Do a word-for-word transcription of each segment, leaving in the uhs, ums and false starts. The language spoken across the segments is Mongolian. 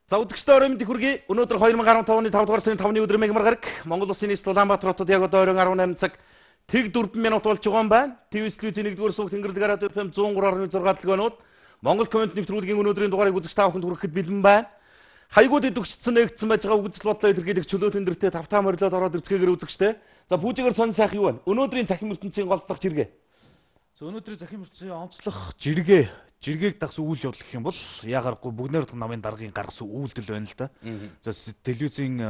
За үзэгчдээ орой мэндийг хүргэе. Өнөөдөр two thousand fifteen оны five дугаар сарын five-ны өдөр мегмар гараг Монгол Улсын нийслэл Улаанбаатар хотод яг одоо оройн eighteen цаг тэг four минут болж байгаа юм байна. ТV телевизийн one-р сүг Тэнгэрэл радио эф эм one oh three point six дэлгөөнүүд Монгол комент нэвтрүүлгийн өнөөдрийн дугаарыг үзэгч та бүхэнд хүрэхэд бэлэн байна. Хайгууд идэвчсэн нэгдсэн байж байгаа үгдэл бодлоо илэрхийлэх чөлөө тендертэй тавтаа морилоод ороод ирцгээгээр үзэгчтэй. За пүүжигээр сонь сайх юу вэ? Өнөөдрийн захим ертөнцийн голдлох жиргээ. За өнөөдрийн захим ертөнцийн онцлох жиргээ жиргээг дагсан үйл явдал гэх юм бол яагарахгүй бүгнээр намын даргын гаргасан үйлдэл байна л да. За телевизийн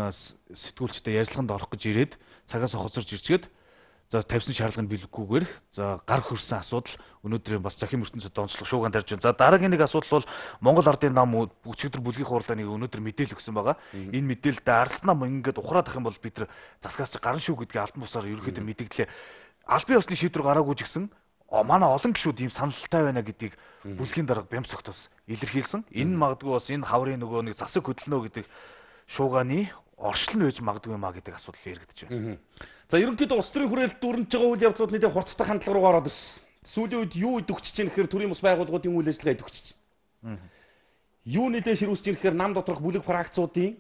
сэтгүүлчтэй ярилцлаганд орох гэж ирээд цагаас хоцорж ирчгээд за тавьсан шаардлагыг биелэхгүйгээр за гар хөрсөн асуудал өнөөдрийн бас захим ертөнцид онцлог шууган тарьж байна. За дараагийн нэг асуудал бол Монгол Ардын нам өчигдөр бүлгийн хурлааны өнөөдөр мэдээлэл өгсөн байгаа. Энэ мэдээлэлд Ардс нам ингээд ухраад ах юм бол бид нар засгаас гарна шүү гэдгийг алтан бусаар ерөөхдөө мэдээлээ. Аль бие усны шийдвэр гараагүй ч гэсэн манай олон гишүүд ийм саналтай байна гэдгийг бүлгийн дарга Бямцогт бас илэрхийлсэн. Энэ магадгүй бас энэ хаврын нөгөө нэг засаг хөдөлнө гэдэг шуугааны оршил нь байж магадгүй маа гэдэг асуудал яригдэж байна. За ерөнхийдөө улс төрийн хүрээлэлд дүрнж байгаа үйл явдлууд нийтэд хурцтай хандлага руу ороод ирсэн. Сүүлийн үед юу идэвхжиж байна гэхээр төрийн бас байгууллагуудын үйл ажиллагаа идэвхжиж байна. Юу нэлээд ширүүсэж байна гэхээр нам доторх бүлэг фракцуудын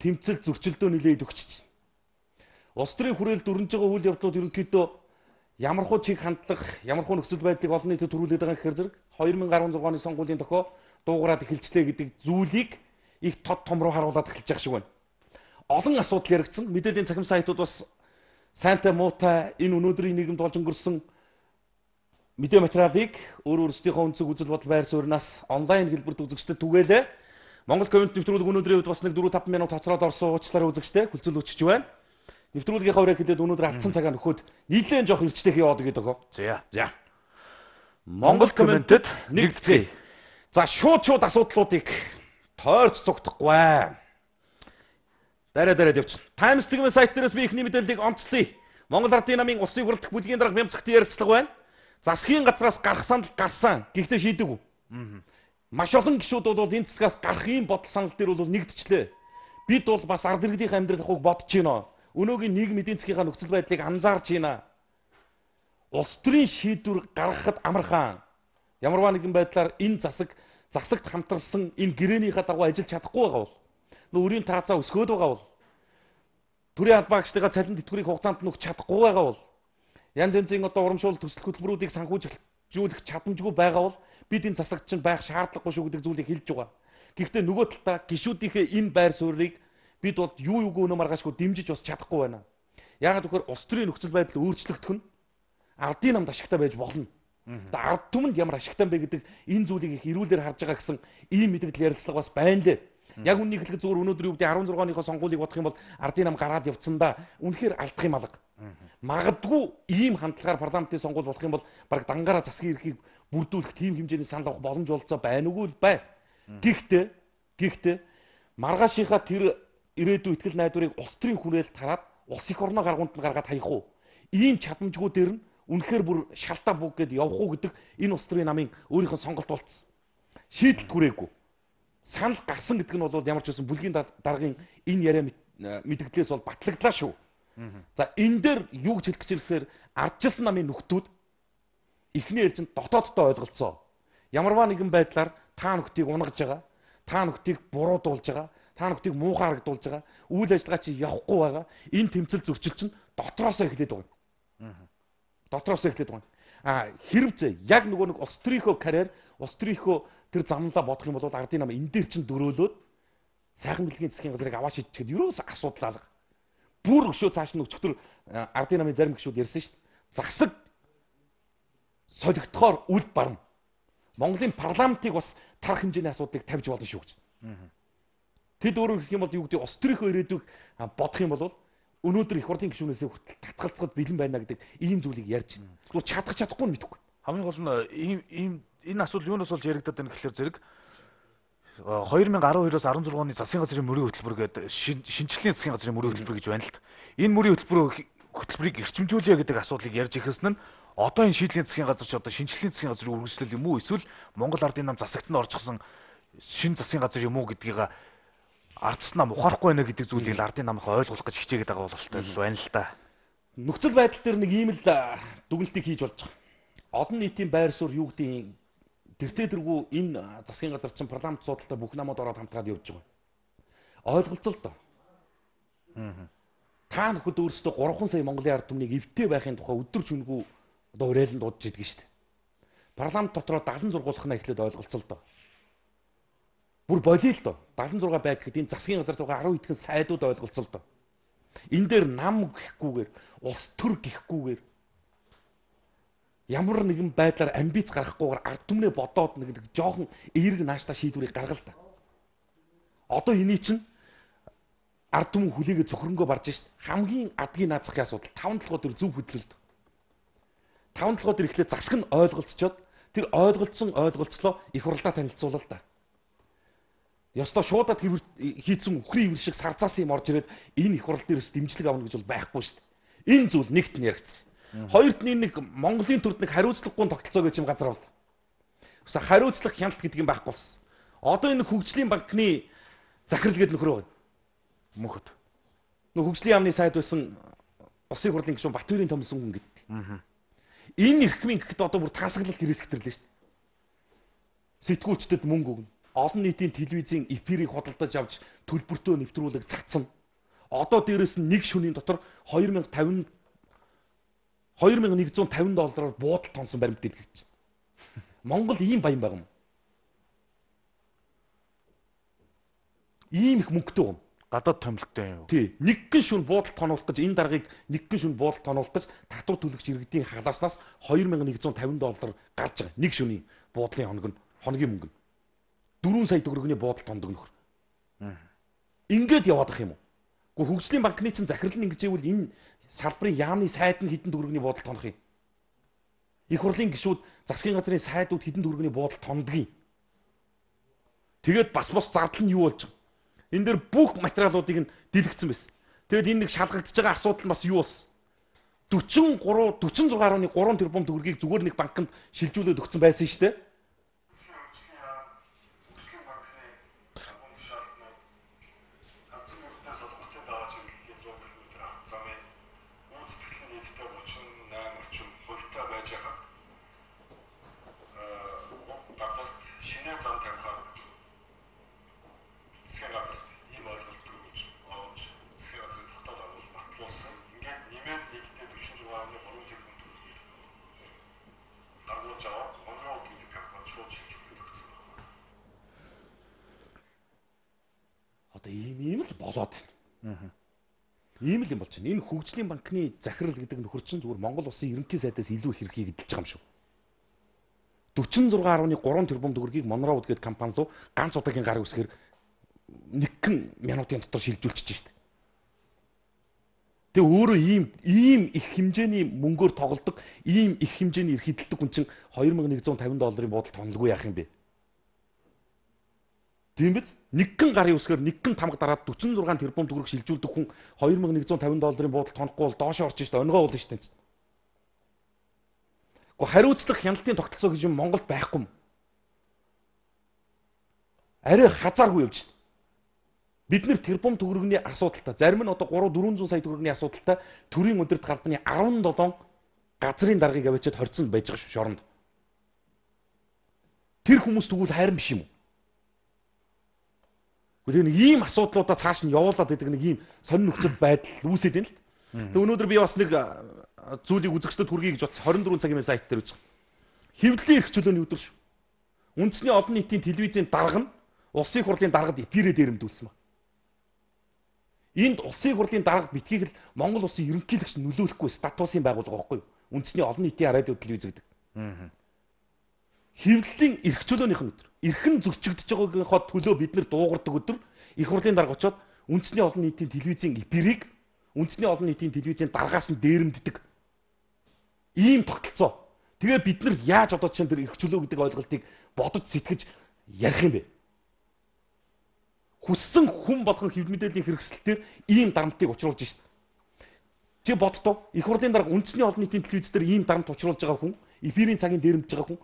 тэмцэл зөрчилдөө нэлээд идэвхжиж байна. Улс төрийн хүрээлэлд дүрнж байгаа үйл явдлууд ерөнхийдөө ямар хуу чиг хандлах, ямар хуу нөхцөл байдлыг олон нийтэд төрүүлээд байгаа гэхээр зэрэг two thousand sixteen оны сонгуулийн дохио дуугараад эхэлжлээ гэдэг зүйлийг их тод том руу харуулад эхэлж байгаа шиг байна. Олон асуудал яригдсан. Мэдээллийн цахим сайтууд бас сайнтай муутай энэ өнөөдрийн нийгэмд болж өнгөрсөн мэдээ материалыг өөр өөрсдийнхөө өнцөг үзэл бодол байр сууриас онлайн хэлбэрт үзэгчдэд түгээлээ. Монгол комент нэвтрүүлэг өнөөдрийн үед бас нэг four five минут хоцроод орсон уучлаарай үзэгчтэй хүлцэл өчөж байна. Нэвтрүүлгийнхаа өрөө хэлээд өнөөдөр алдсан цагаа нөхөд нийлэн жоох ирчтэй хийе одоо гэдэг өгөө. За за. Монгол комментэд нэгдэцгээе. За шууд шууд асуудлуудыг тойрч цугтахгүй. Дараа дараа явчих. Times цэгийн сайт дээрээс би ихний мэдээллийг онцлоё. Монгол Ардын намын улсын хурлдах бүлгийн дарга Бямцогт ярилцлага байна. Засгийн газраас гарах санал гарсан. Гэхдээ шийдэггүй. Маш олон гишүүд бол энэ засгаас гарах юм бодол санал дээр бол нэгдчихлээ. Бид бол бас ард иргэдийн амьдралыг бодож байна. Өнөөгийн нийгмийн эдийн засгийн нөхцөл байдлыг анзаарч байна. Улс төрийн шийдвэр гаргахад амархан. Ямарваа нэгэн байдлаар энэ засаг засагт хамтарсан энэ гэрээнийхээ дагуу ажиллаж чадахгүй байгаа бол нүүрийн таацаа өсгөөд байгаа бол төрийн албаагчдаа цалин тэтгэврийг хугацаанд нөхч чадахгүй байгаа бол янз янзын одоо урамшуул төсөл хөтөлбөрүүдийг санхүүжүүлэх чадамжгүй байгаа бол бид энэ засагт чинь байх шаардлагагүй шүү гэдэг зүйлийг хэлж байгаа. Гэхдээ нөгөө талдаа гишүүдийнхээ энэ байр суурийг бид бол юу юугүй өнөө маргаашгүй дэмжиж бас чадахгүй байна. Яагаад гэвэл улс төрийн нөхцөл байдал өөрчлөгдөх нь ардын намд ашигтай байж болно. Ард түмэнд ямар ашигтай бэ гэдэг энэ зүйлийг их эрүүлэр харж байгаа гэсэн ийм мэдээлэл ярилцлага бас байна лээ. Яг үннийг хэлэхэд зүгээр өнөөдрийн үеийн sixteen оныхоо сонгуулийг бодох юм бол ардын нам гараад явцсан да. Үнэхээр алдах юм алга. Магадгүй ийм хандлагаар парламентын сонгуул болох юм бол баг дангаараа засгийн эрхийг бүрдүүлэх тийм хэмжээний санал авах боломж олцоо байна уу л бай. Гэхдээ гэхдээ маргаашийнхаа тэр ирээдүйн ихтгэл найдварыг улс төрийн хүрээлэлд хараад улс их орноо гаргуунд нь гаргаад хаях уу? Ийм чадамжгүй дээр нь үнэхээр бүр шалтаа бүг гэдээ явах уу гэдэг энэ улс төрийн намын өөрийнх нь сонголт болцсон. Шийдэл хүрээгүй. Санал гарсан гэдэг нь бол ямар ч байсан бүлгийн даргын энэ яриа мэдгдлээс бол батлагдлаа шүү. За энэ дээр юу гэж хэлэх гэж хэлэхээр ардчилсан намын нөхдүүд эхний ээлжинд дотооддоо ойлголцоо. Ямарваа нэгэн байдлаар та нөхдийг унгаж байгаа, та нөхдийг буруудуулж байгаа, та нөхдийг муухай харагдуулж байгаа, үйл ажиллагаа чи явахгүй байгаа. Энэ тэмцэл зөрчил чинь дотроосоо эхлээд байгаа. Дотроосоо эхлээд байгаа. А хэрвээ яг нөгөө нэг улс төрийнхөө карьер, улс төрийнхөө тэр замлаа бодох юм бол ардын нам энэ дээр чинь дөрөөлөөд сайхан бэлгийн засгийн газрыг аваа шийдчихэд ерөөс асуудал алга. Бүр өшөө цааш нь өчтөр ардын намын зарим гишүүд ярьсан шүү дээ. Засаг солигдохоор үл барна. Монголын парламентыг бас тарах хэмжээний асуудлыг тавьж болно шүү гэж. Тэд өөрөөр хэлэх юм бол юу гэдэг улс төрийнхөө ирээдүйг бодох юм бол өнөөдөр их хурлын гишүүнээс хүртэл татгалцахад бэлэн байна гэдэг ийм зүйлийг ярьж байна. Зүгээр чадах чадахгүй нь мэдэхгүй. Хамгийн гол нь ийм ийм энэ асуудал юунаас болж яригдаад байна гэхээр зэрэг two thousand twelve-оос sixteen оны засгийн газрын мөрийн хөтөлбөр гэдэг шинжлэлийн засгийн газрын мөрийн хөтөлбөр гэж байна л та. Энэ мөрийн хөтөлбөр хөтөлбөрийг эрчимжүүлэе гэдэг асуудлыг ярьж ихэсэн нь одоо энэ шийдлийн засгийн газар ч одоо шинжлэлийн засгийн газрын үргэлжлэл юм уу эсвэл Монгол Ардын нам засагт нь орчихсон шинэ засгийн газар юм уу гэдгийг ардс нам ухаарахгүй байна гэдэг зүйлийг ардын намынхаа ойлгох гэж хичээгээд байгаа бололтой байна л та. Нөхцөл байдал дээр нэг ийм л дүгнэлтийг хийж болж байгаа. Олон нийтийн байр суурь юу гэдэг тэртээ тэргүй энэ засгийн газар чинь парламент судалтай бүх намууд ороод хамтгаад явж байгаа. Ойлголцол доо. Аа. Та нөхөд өөрсдөө гурван сая Монголын ард түмнийг эвтэй байхын тухай өдөр чүнхүү одоо уриалан дуудаж идэг шүү дээ. Парламент дотроо дагалан зургуулах нь эхлээд ойлголцол доо. Бүр болио л доо. дагалан зураг байг гэхэд энэ засгийн газар тухай арван хэдхэн сайдууд ойлголцол доо. Энэ дээр нам гэхгүйгээр, улс төр гэхгүйгээр ямар нэгэн байдлаар амбиц гаргахгүйгээр ард түмнээ бодоод нэг жоохон эерэг нааштай шийдвэрийг гаргал та. Одоо эний чинь ард түмэн хүлээгээ зөвхөрөнгөө барж шít. Хамгийн адгийн наад захын асуудал таван толгой төр зөв хөдлөлт. Таван толгой төр ихлээр засаг нь ойлголцчоод тэр ойлголцсон ойлголцлоо их хурлаа танилцуулал та. Ёстой шуудад хийцэн үхрийн ивэр шиг сарцаас юм орж ирээд энэ их хурал дээрээс дэмжлэг авна гэж бол байхгүй шүү дээ. Энэ зүйл нэгт нь яригдсан. Хоёрт нь нэг Монголын төрд нэг хариуцлагагүй тогтолцоо гэж юм газар бол. Өсө хариуцлах хяналт гэдэг юм байхгүй болсон. Одоо энэ хөгжлийн банкны захирал гэдэг нөхрөө байна. Мөнхөд. Нөх хөгжлийн яамны сайд байсан Улсын хурлын гишүүн Батбаярын Томсон хүн гэдэг. Аа. Энэ эрхмийн гэхэд одоо бүр тасаглал хэрэгсгэрлээ шүү дээ. Сэтгүүлчдэд мөнгө өгнө. Олон нийтийн телевизийн эфирийг худалдаж авч төлбөртөө нэвтрүүлэг цацсан. Одоо дээрэс нь нэг шөнийн дотор хоёр мянга тавин хоёр мянга нэгдүгээр тавин доллараар буудал тонсон баримт дэлгэж байна. Монгол ийм баян байгаа юм. Ийм их мөнгөтэй юм. Гадаад томилттой юм. Тий. Нэг гин шүн буудал тоноолох гэж энэ даргаыг нэг гин шүн буудал тоноолох гэж татвар төлөгч иргэдийн халааснаас хоёр мянга нэгдүгээр тавин доллар гарч байгаа. Нэг шөнийн буудлын хоног нь хоногийн мөнгө нь дөрвөн сая төгрөгийн буудал тондог нөхөр. Ингээд яваад ах юм уу? Гэхдээ хөгжлийн банкны чинь захирал нь ингэж ивэл энэ салбарын яамны сайд нь хэдэн төгрөгийн буудал тонох юм? Их хурлын гишүүд засгийн газрын сайдууд хэдэн төгрөгийн буудал тондгийг. Тэгээд бас бас зардал нь юу болж байгаа? Энэ дээр бүх материалуудыг нь дэлгэцсэн байсан. Тэгээд энэ нэг шалгагдж байгаа асуудал нь бас юу болсон? дөрвөн гурав дөрвөн зургаан гаруй гурван тэрбум төгрөгийг зүгээр нэг банкнд шилжүүлээд өгсөн байсан шүү дээ. Одоо ийм ийм л болоод байна. Аа. Ийм л юм болж байна. Энэ хөгжлийн банкны захирал гэдэг нөхөр чинь зүгээр Монгол улсын ерөнхий сайдаас илүү их хэргийг эдэлж байгаа юм шүү. дөрвөн зургаан гаруй гурван тэрбум төгрөгийг Монроуд гэдэг компани руу ганц удаагийн гар үсгээр нэгэн минутын дотор шилжүүлчихэж шít. Тэгээ өөрөө ийм ийм их хэмжээний мөнгөөр тоглодог, ийм их хэмжээний эрх эдэлдэг хүн чинь хоёр мянга нэгдүгээр тавин долларын буудал тонлгүй яах юм бэ? Тийм биз? Нэгэн гарын үсгээр нэгэн тамга дараад дөрвөн зургаан тэрбум төгрөг шилжүүлдэг хүн хоёр мянга нэгдүгээр тавин долларын буудал тонохгүй бол доошоо орж шít, өнгөө болно шít. Гэхдээ хариуцлах хяналтын тогтолцоо гэж юм Монголд байхгүй юм. Арай хазааргүй явж шít. Бид нэр тэрбум төгрөгийн асуудалтай, зарим нь одоо гурван дөрвөн зуун сая төгрөгийн асуудалтай төрийн өдөрт галбаны арван долоо газрын даргаыг авчиад хорцсон байж байгаа шүү шоронд. Тэр хүмүүс тэгвэл хайрын биш юм уу? Гэхдээ нэг ийм асуудлуудаа цааш нь явуулаад байдаг нэг ийм сонин нөхцөл байдал үүсээд байна л. Тэг өнөөдөр би бас нэг зүйлийг үзэгчдэд хүргэе гэж бодсон хорин дөрвөн цагийн сайт дээр үзсэн. Хэвлэлийн эрх чөлөөний өдөр шүү. Үндэсний олон нийтийн телевизийн дарга нь улсын хурлын даргад эфирээр дээрэмдүүлсэн ба. Энд улсын хурлын дарга битгийг л Монгол улсын ерөнхийлөгч нөлөөлөхгүй статусын байгууллага байхгүй юу? Үндэсний олон нийтийн радио телевиз гэдэг. Аа. Хэвлэлийн эрх чөлөөнийх нь өдөр. Эрхэн зөрчигдөж байгаагийнхоо төлөө бид нэр дуугардаг өдөр их хурлын дарга очоод үндэсний олон нийтийн телевизийн эфирийг үндэсний олон нийтийн телевизийн даргаас нь дээрэмддэг. Ийм тогтолцоо. Тэгээ бид нар яаж одоо чинь тэр эрх чөлөө гэдэг ойлголтыг бодож сэтгэж ярих юм бэ? Хүссэн хүн болгон хэв мэдээллийн хэрэгсэлтээр ийм дарамтыг учруулж шít. Чи бодтоо их хурлын дарга үндэсний олон нийтийн телевиз дээр ийм дарамт учруулж байгаа хүн, эфирийн цагийн дээрэмдэж байгаа хүн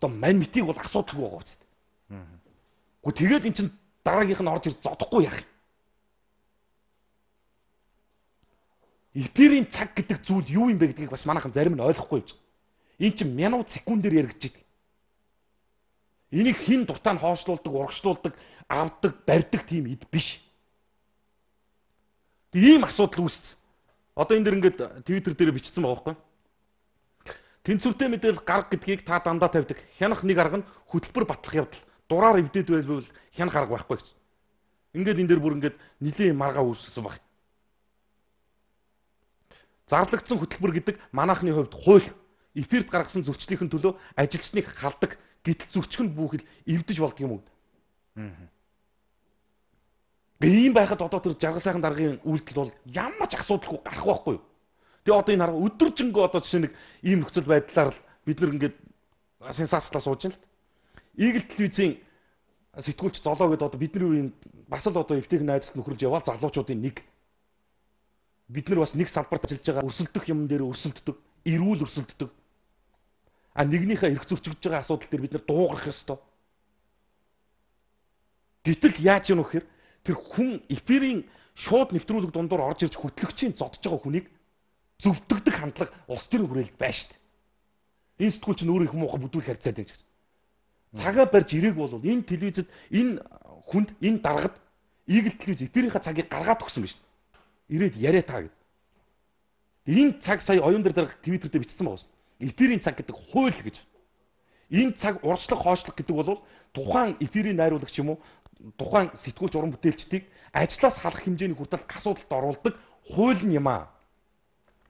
одоо мань митийг бол асуудалгүй байгаа ч. Аа. Гэхдээ тэгээд эн чин дараагийнх нь орж ир зодохгүй яах юм? Эфирийн цаг гэдэг зүйл юу юм бэ гэдгийг бас манайхан зарим нь ойлгохгүй байж. Энд чинь минут секундээр яригдж идэг. Энийг хин дуртай нь хоошлуулдаг, урагшлуулдаг, авдаг, барьдаг тийм эд биш. Ийм асуудал үүссэн. Одоо энэ дэр ингээд Twitter дээр бичсэн байгаа байхгүй. Тэнцвэртэй мэдээлэл гарга гэдгийг та дандаа тавьдаг. Хянах нэг арга нь хөтөлбөр батлах явдал. Дураар эвдээд байвал хянах арга байхгүй гэсэн. Ингээд энэ дэр бүр ингээд нилийн маргаа үүсгэсэн баг. Зарлагдсан хөтөлбөр гэдэг манайхны хувьд хууль эфирт гаргасан зөрчлөлийн төлөө ажилчныг халдаг. Гэтэл зөрчил нь бүхэл эвдэж болдго юм уу? Аа. Ийм байхад одоо тэр жаргал сайхан даргын үйлдэл бол ямар ч асуудалгүй гарах байхгүй юу? Тэгээ одоо энэ хараа өдөржингөө одоо жишээ нэг ийм нөхцөл байдлаар л бид нэг ингээд сенсацлаа сууж байна л. Eagle телевизийн сэтгүүлч золоо гэдэг одоо бидний үеийн бас л одоо эвтэйг найзлт нөхөрж яваал залуучуудын нэг. Бид нар бас нэг салбарт ажиллаж байгаа өрсөлдөх юм дээр өрсөлддөг, эрүүл өрсөлддөг. А нэгнийхээ эрх зөрчигдөж байгаа асуудал дээр бид нар дуугарах ёстой. Гэтэл яаж юм вэ гэхээр тэр хүн эфирийн шууд нэвтрүүлэг дундуур орж ирж хөтлөгчийн зодж байгаа хүнийг зөвдөгдөг хандлага улс төрийн хүрээлэлд байна шүү дээ. Энэ сэтгүүлч нь өөрөө их муухай бүдүүл харьцаад байна гэж. Цагаа барьж ирээг бол энэ телевизэд энэ хүнд энэ даргад Eagle телевиз эфирийнхаа цагийг гаргаад өгсөн байна шүү дээ. Ирээд яриа таа гэд. Энэ цаг сая оюун дээр дарга Twitter дээр бичсэн байгаа. Эфирийн цаг гэдэг хууль гэж. Энэ цаг урчлах хоошлох гэдэг бол тухайн эфирийн найруулагч юм уу тухайн сэтгүүлч уран бүтээлчдийг ажлаас халах хэмжээний хүртэл асуудалд оруулдаг хууль нь юм аа.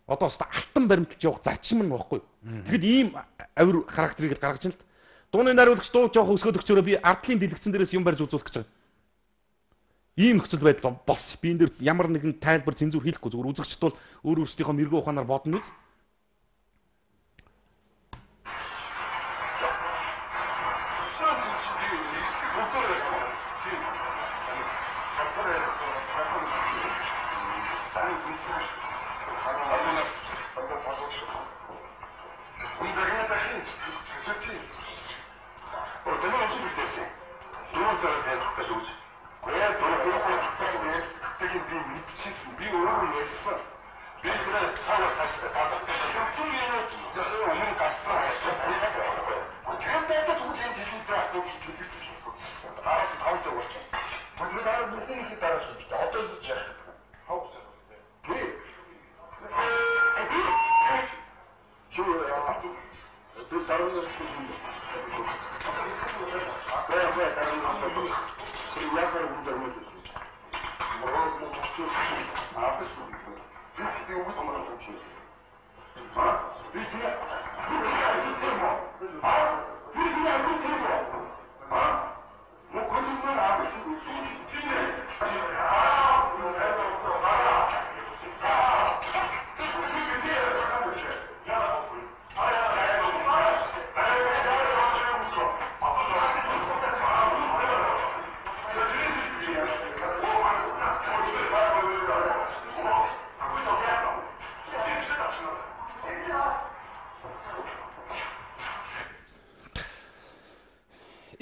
Одоо өстой алтан баримталж явах зарчим нь баггүй. Тэгэхэд ийм авир характерыг гаргаж байна л. Дууны найруулагч дуу жоох өсгөөд өгчөөрөө би ардлын дэлгэцэн дээрээс юм барьж үзүүлэх гэж байгаа. Ийм нөхцөл байдал бос. Би энэ дээр ямар нэгэн тайлбар цензур хийхгүй зүгээр үзэгчд бол өөр өөрсдийнхөө мэрэгүү ухаанаар бодно үз.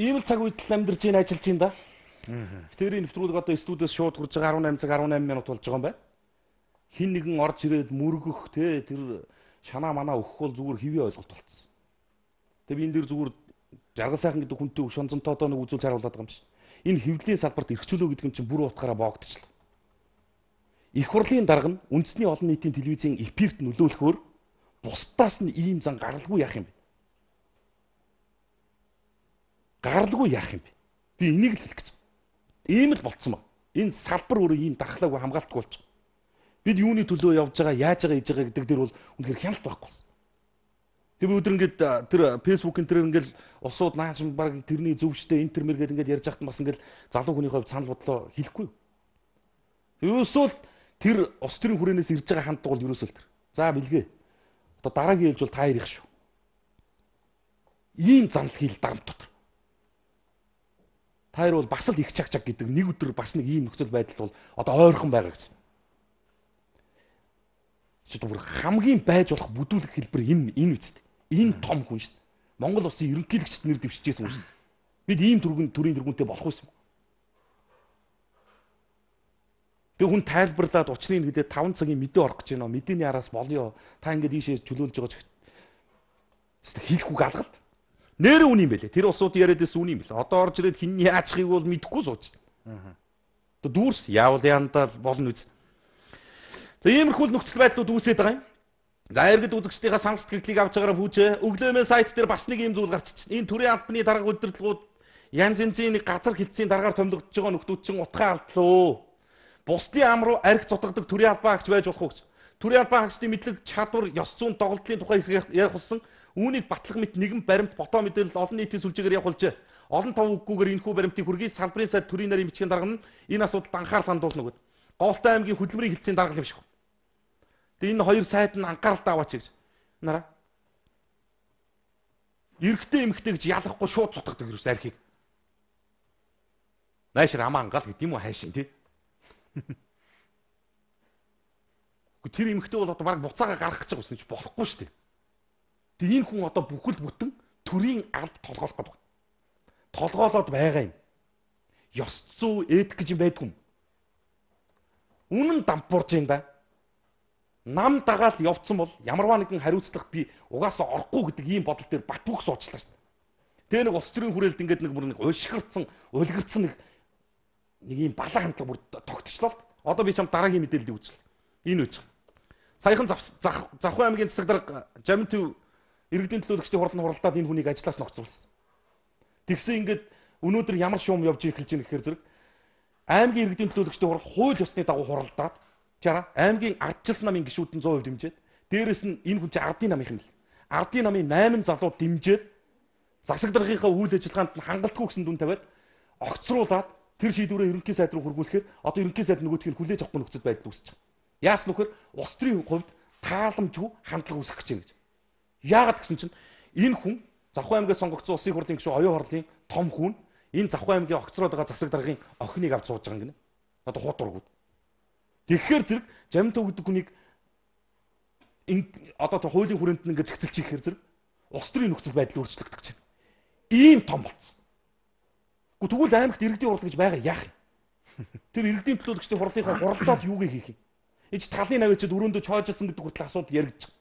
Ийм л цаг үедл амьдарч ийн ажиллаж ийн да. Тэр нэвтрүүлэг одоо студиэс шууд хурж байгаа арван найман цаг арван найман минут болж байгаа юм байна. Хин нэгэн орж ирээд мөргөх те тэр шанаа манаа өгөх бол зүгээр хэвээ ойлголт болцсон. Тэгээ би энэ дэр зүгээр жаргал сайхан гэдэг хүнтэй шонцонтой одоо нэг үзүүл харуулдаг юм шиг. Энэ хэвлэлийн салбарт эрхчлөө гэдэг юм чинь бүр утгаараа боогдчихлоо. Их хурлын дарга нь үндэсний олон нийтийн телевизийн эфирт нөлөөлөхөөр бусдаас нь ийм зан гаралгүй яах юм бэ? Гаралгүй яах юм бэ? Би энийг л хэлэх гэж. Ийм л болцсон ба. Энэ салбар өөрөө ийм дархлаагүй хамгаалтгүй болж байгаа. Бид юуны төлөө явж байгаа, яаж байгаа, хийж байгаа гэдэг дээр бол үнэхээр хяналт байхгүй болсон. Тэр өдөр ингээд тэр фэйсбүүкэн тэр ингээд усууд нааш баг тэрний зөвштэй интермер гэдэг ингээд ярьж байхад бас ингээд залуу хүний хувьд санал бодлоо хэлэхгүй. Ерөөсөө тэр ус төрийн хүрээнээс ирж байгаа хандлага бол ерөөсөө тэр. За бэлгээ. Одоо дараагийн ээлж бол та ярих шүү. Ийм занл хийл дарамт дотор. Таяр бол бас л их чаг чаг гэдэг нэг өдөр бас нэг ийм нөхцөл байдал бол одоо ойрхон байгаа гэж. Зүгээр хамгийн байж болох бүдүүлэх хэлбэр энэ энэ үстэй. Энэ том хүн шүү дээ. Монгол улсын ерөнхийлөгчд нэр дэвшижсэн хүн шүү дээ. Бид ийм төргөн төрийн тэргүүнтэй болох байсан. Тэг хүн тайлбарлаад учрыг хэлээд таван цагийн мэдээ орох гэж байна. Мэдээний араас болёо. Та ингээд ийшээ чөлөөлж байгаа ч хийхгүй галгалт. Нэр үн юм бэлээ. Тэр улсууд яриадээс үн юм бэлээ. Одоо орж ирээд хин яачхыг бол мэдэхгүй сууж байна. Аа. Тэг дүүрс яавал яандаа болно үз. За иймэрхүү нөхцөл байдлууд үүсээд байгаа юм. За иргэд үзэгчдийнхээ санал сэтгэлийг авч байгаараа хүүчээ. Өглөөмөө сайт дээр бас нэг юм зүйл гарч ич. Энэ төрийн албаны дарга удирдлагууд янз янзын нэг газар хэлтсийн дараагаар томилогдож байгаа нөхдүүд чинь утгаа алдлаа. Бусдын ам руу арх цутгадаг төрийн албан агч байж болох уу гэж. Төрийн албан агчдын мэдлэг чадвар, ёс зүйн доголдлын тухай ярих болсон. Үүнийг батлах мэт нэгэн баримт ботоо мэдээлэл олон нийтийн сүлжээгээр явуулжээ. Олон тав үггүйгээр энэхүү баримтыг хүргэе. Салбарын сайд төрийн нарийн бичгийн дарга нь энэ асуудалд анхаарал хандуулна гэдэг. Голтой аймгийн хөдөлмөрийн хэлтсийн дарга юм шиг. Тэгээ энэ хоёр сайд нь анхааралтай аваач гэж. Нараа. Эрэгтэй эмэгтэй гэж ялахгүй шууд цутгадаг юус архийг. Найшир амаа ангаал гэдэг юм уу хайшин тий. Гэхдээ тэр эмэгтэй бол одоо баг буцаага гаргах гэж байсан ч болохгүй шүү дээ. Тэгээ энэ хүн одоо бүхэл бүтэн төрийн алд толгоолох гэдэг. Толгоолоод байгаа юм. Ёс зүй эдик гэж юм байдгүй юм. Үнэн дампуурж юм да. Нам дагаал явцсан бол ямарваа нэгэн хариуцлага би угаасаа орохгүй гэдэг ийм бодол дээр бат бөх суучлаа шүү дээ. Тэгээ нэг улс төрийн хүрээлд ингээд нэг бүр нэг ушгирцсан, улгирцсан нэг нэг ийм балаа хандлага бүр тогтчлоо. Одоо би чам дараагийн мэдээллийг үзэл. Энэ үз. Саяхан Завхан аймгийн засаг дарга Жамин төв иргэдийн төлөөлөгчдийн хурлын хуралдаад энэ хүнийг ажлаас ногцуулсан. Тэгсэн ингээд өнөөдөр ямар шуум явж эхэлж байгаа гэхээр зэрэг аймгийн иргэдийн төлөөлөгчдийн хурал хууль ёсны дагуу хуралдаад чара аймгийн ардчилсан намын гишүүдэн сто хувь дэмжээд дээрэс нь энэ хүн чинь ардын намынх нь л. Ардын намын восемь залуу дэмжээд засаг даргынхаа үйл ажиллагаанд нь хангалтгүй гэсэн дүн тавиад огцруулаад тэр шийдвэрээ ерөнхий сайд руу хөргүүлэхээр одоо ерөнхий сайд нөгөөдгийг хүлээж авахгүй нөхцөл байдал үүсэж байгаа. Яас нөхөр улс төрийн хувьд тааламжгүй хандлага үүсгэж байна гэж. Яагаад гэсэн чинь энэ хүн Завхан аймгаас сонгогдсон улсын хурлын гишүүн оюун хорлын том хүн энэ Завхан аймгийн огцроод байгаа засаг даргын охиныг авч сууж байгаа юм гинэ. Одоо хот ургууд. Тэгэхээр зэрэг Жамин төв гэдэг хүнийг одоо тэр хуулийн хүрээнд нь ингээд зэгцэлж ихээр зэрэг улс төрийн нөхцөл байдал өөрчлөгдөж байна. Ийм том болцсон. Гэхдээ тэгвэл аймагт иргэдийн хурал гэж байгаа яах юм? Тэр иргэдийн төлөөлөгчдийн хурлынхаа хуралдаад юуг хийх юм? Энд талын навчид өрөөндөө чойжсэн гэдэг хүртэл асуудал яригдчих.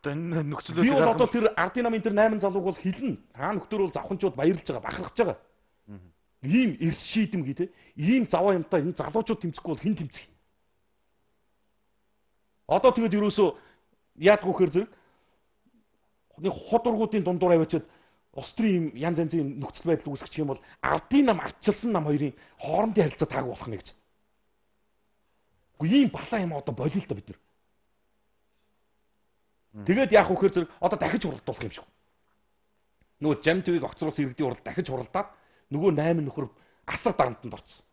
Одоо энэ нөхцөл байдал би бол одоо тэр ардын намын тэр восемь залууг бол хэлнэ. Та нөхдөр бол завханчууд баярлж байгаа, бахархаж байгаа. Ийм эрс шийдэмгий те. Ийм заваа юмтай энэ залуучууд тэмцэхгүй бол хэн тэмцэх? Одоо тэгээд ерөөсөө яадгүй хэр зэрэг нэг хот ургуудын дундуур аваачаад улс төрийн янз янзын нөхцөл байдал үүсгэх юм бол ардын нам ардчилсан нам хоёрын хоорондын харилцаа тааг болох нь гэж. Ийм балаа юм одоо болио л та бид нар. Тэгээд яах вэ гэхээр зэрэг одоо дахиж хуралдуулах юм шиг. Нөгөө Жамин төвийг огцруулсан иргэдийн хурал дахиж хуралдаад нөгөө восемь нөхөр асар дарамтанд орсон.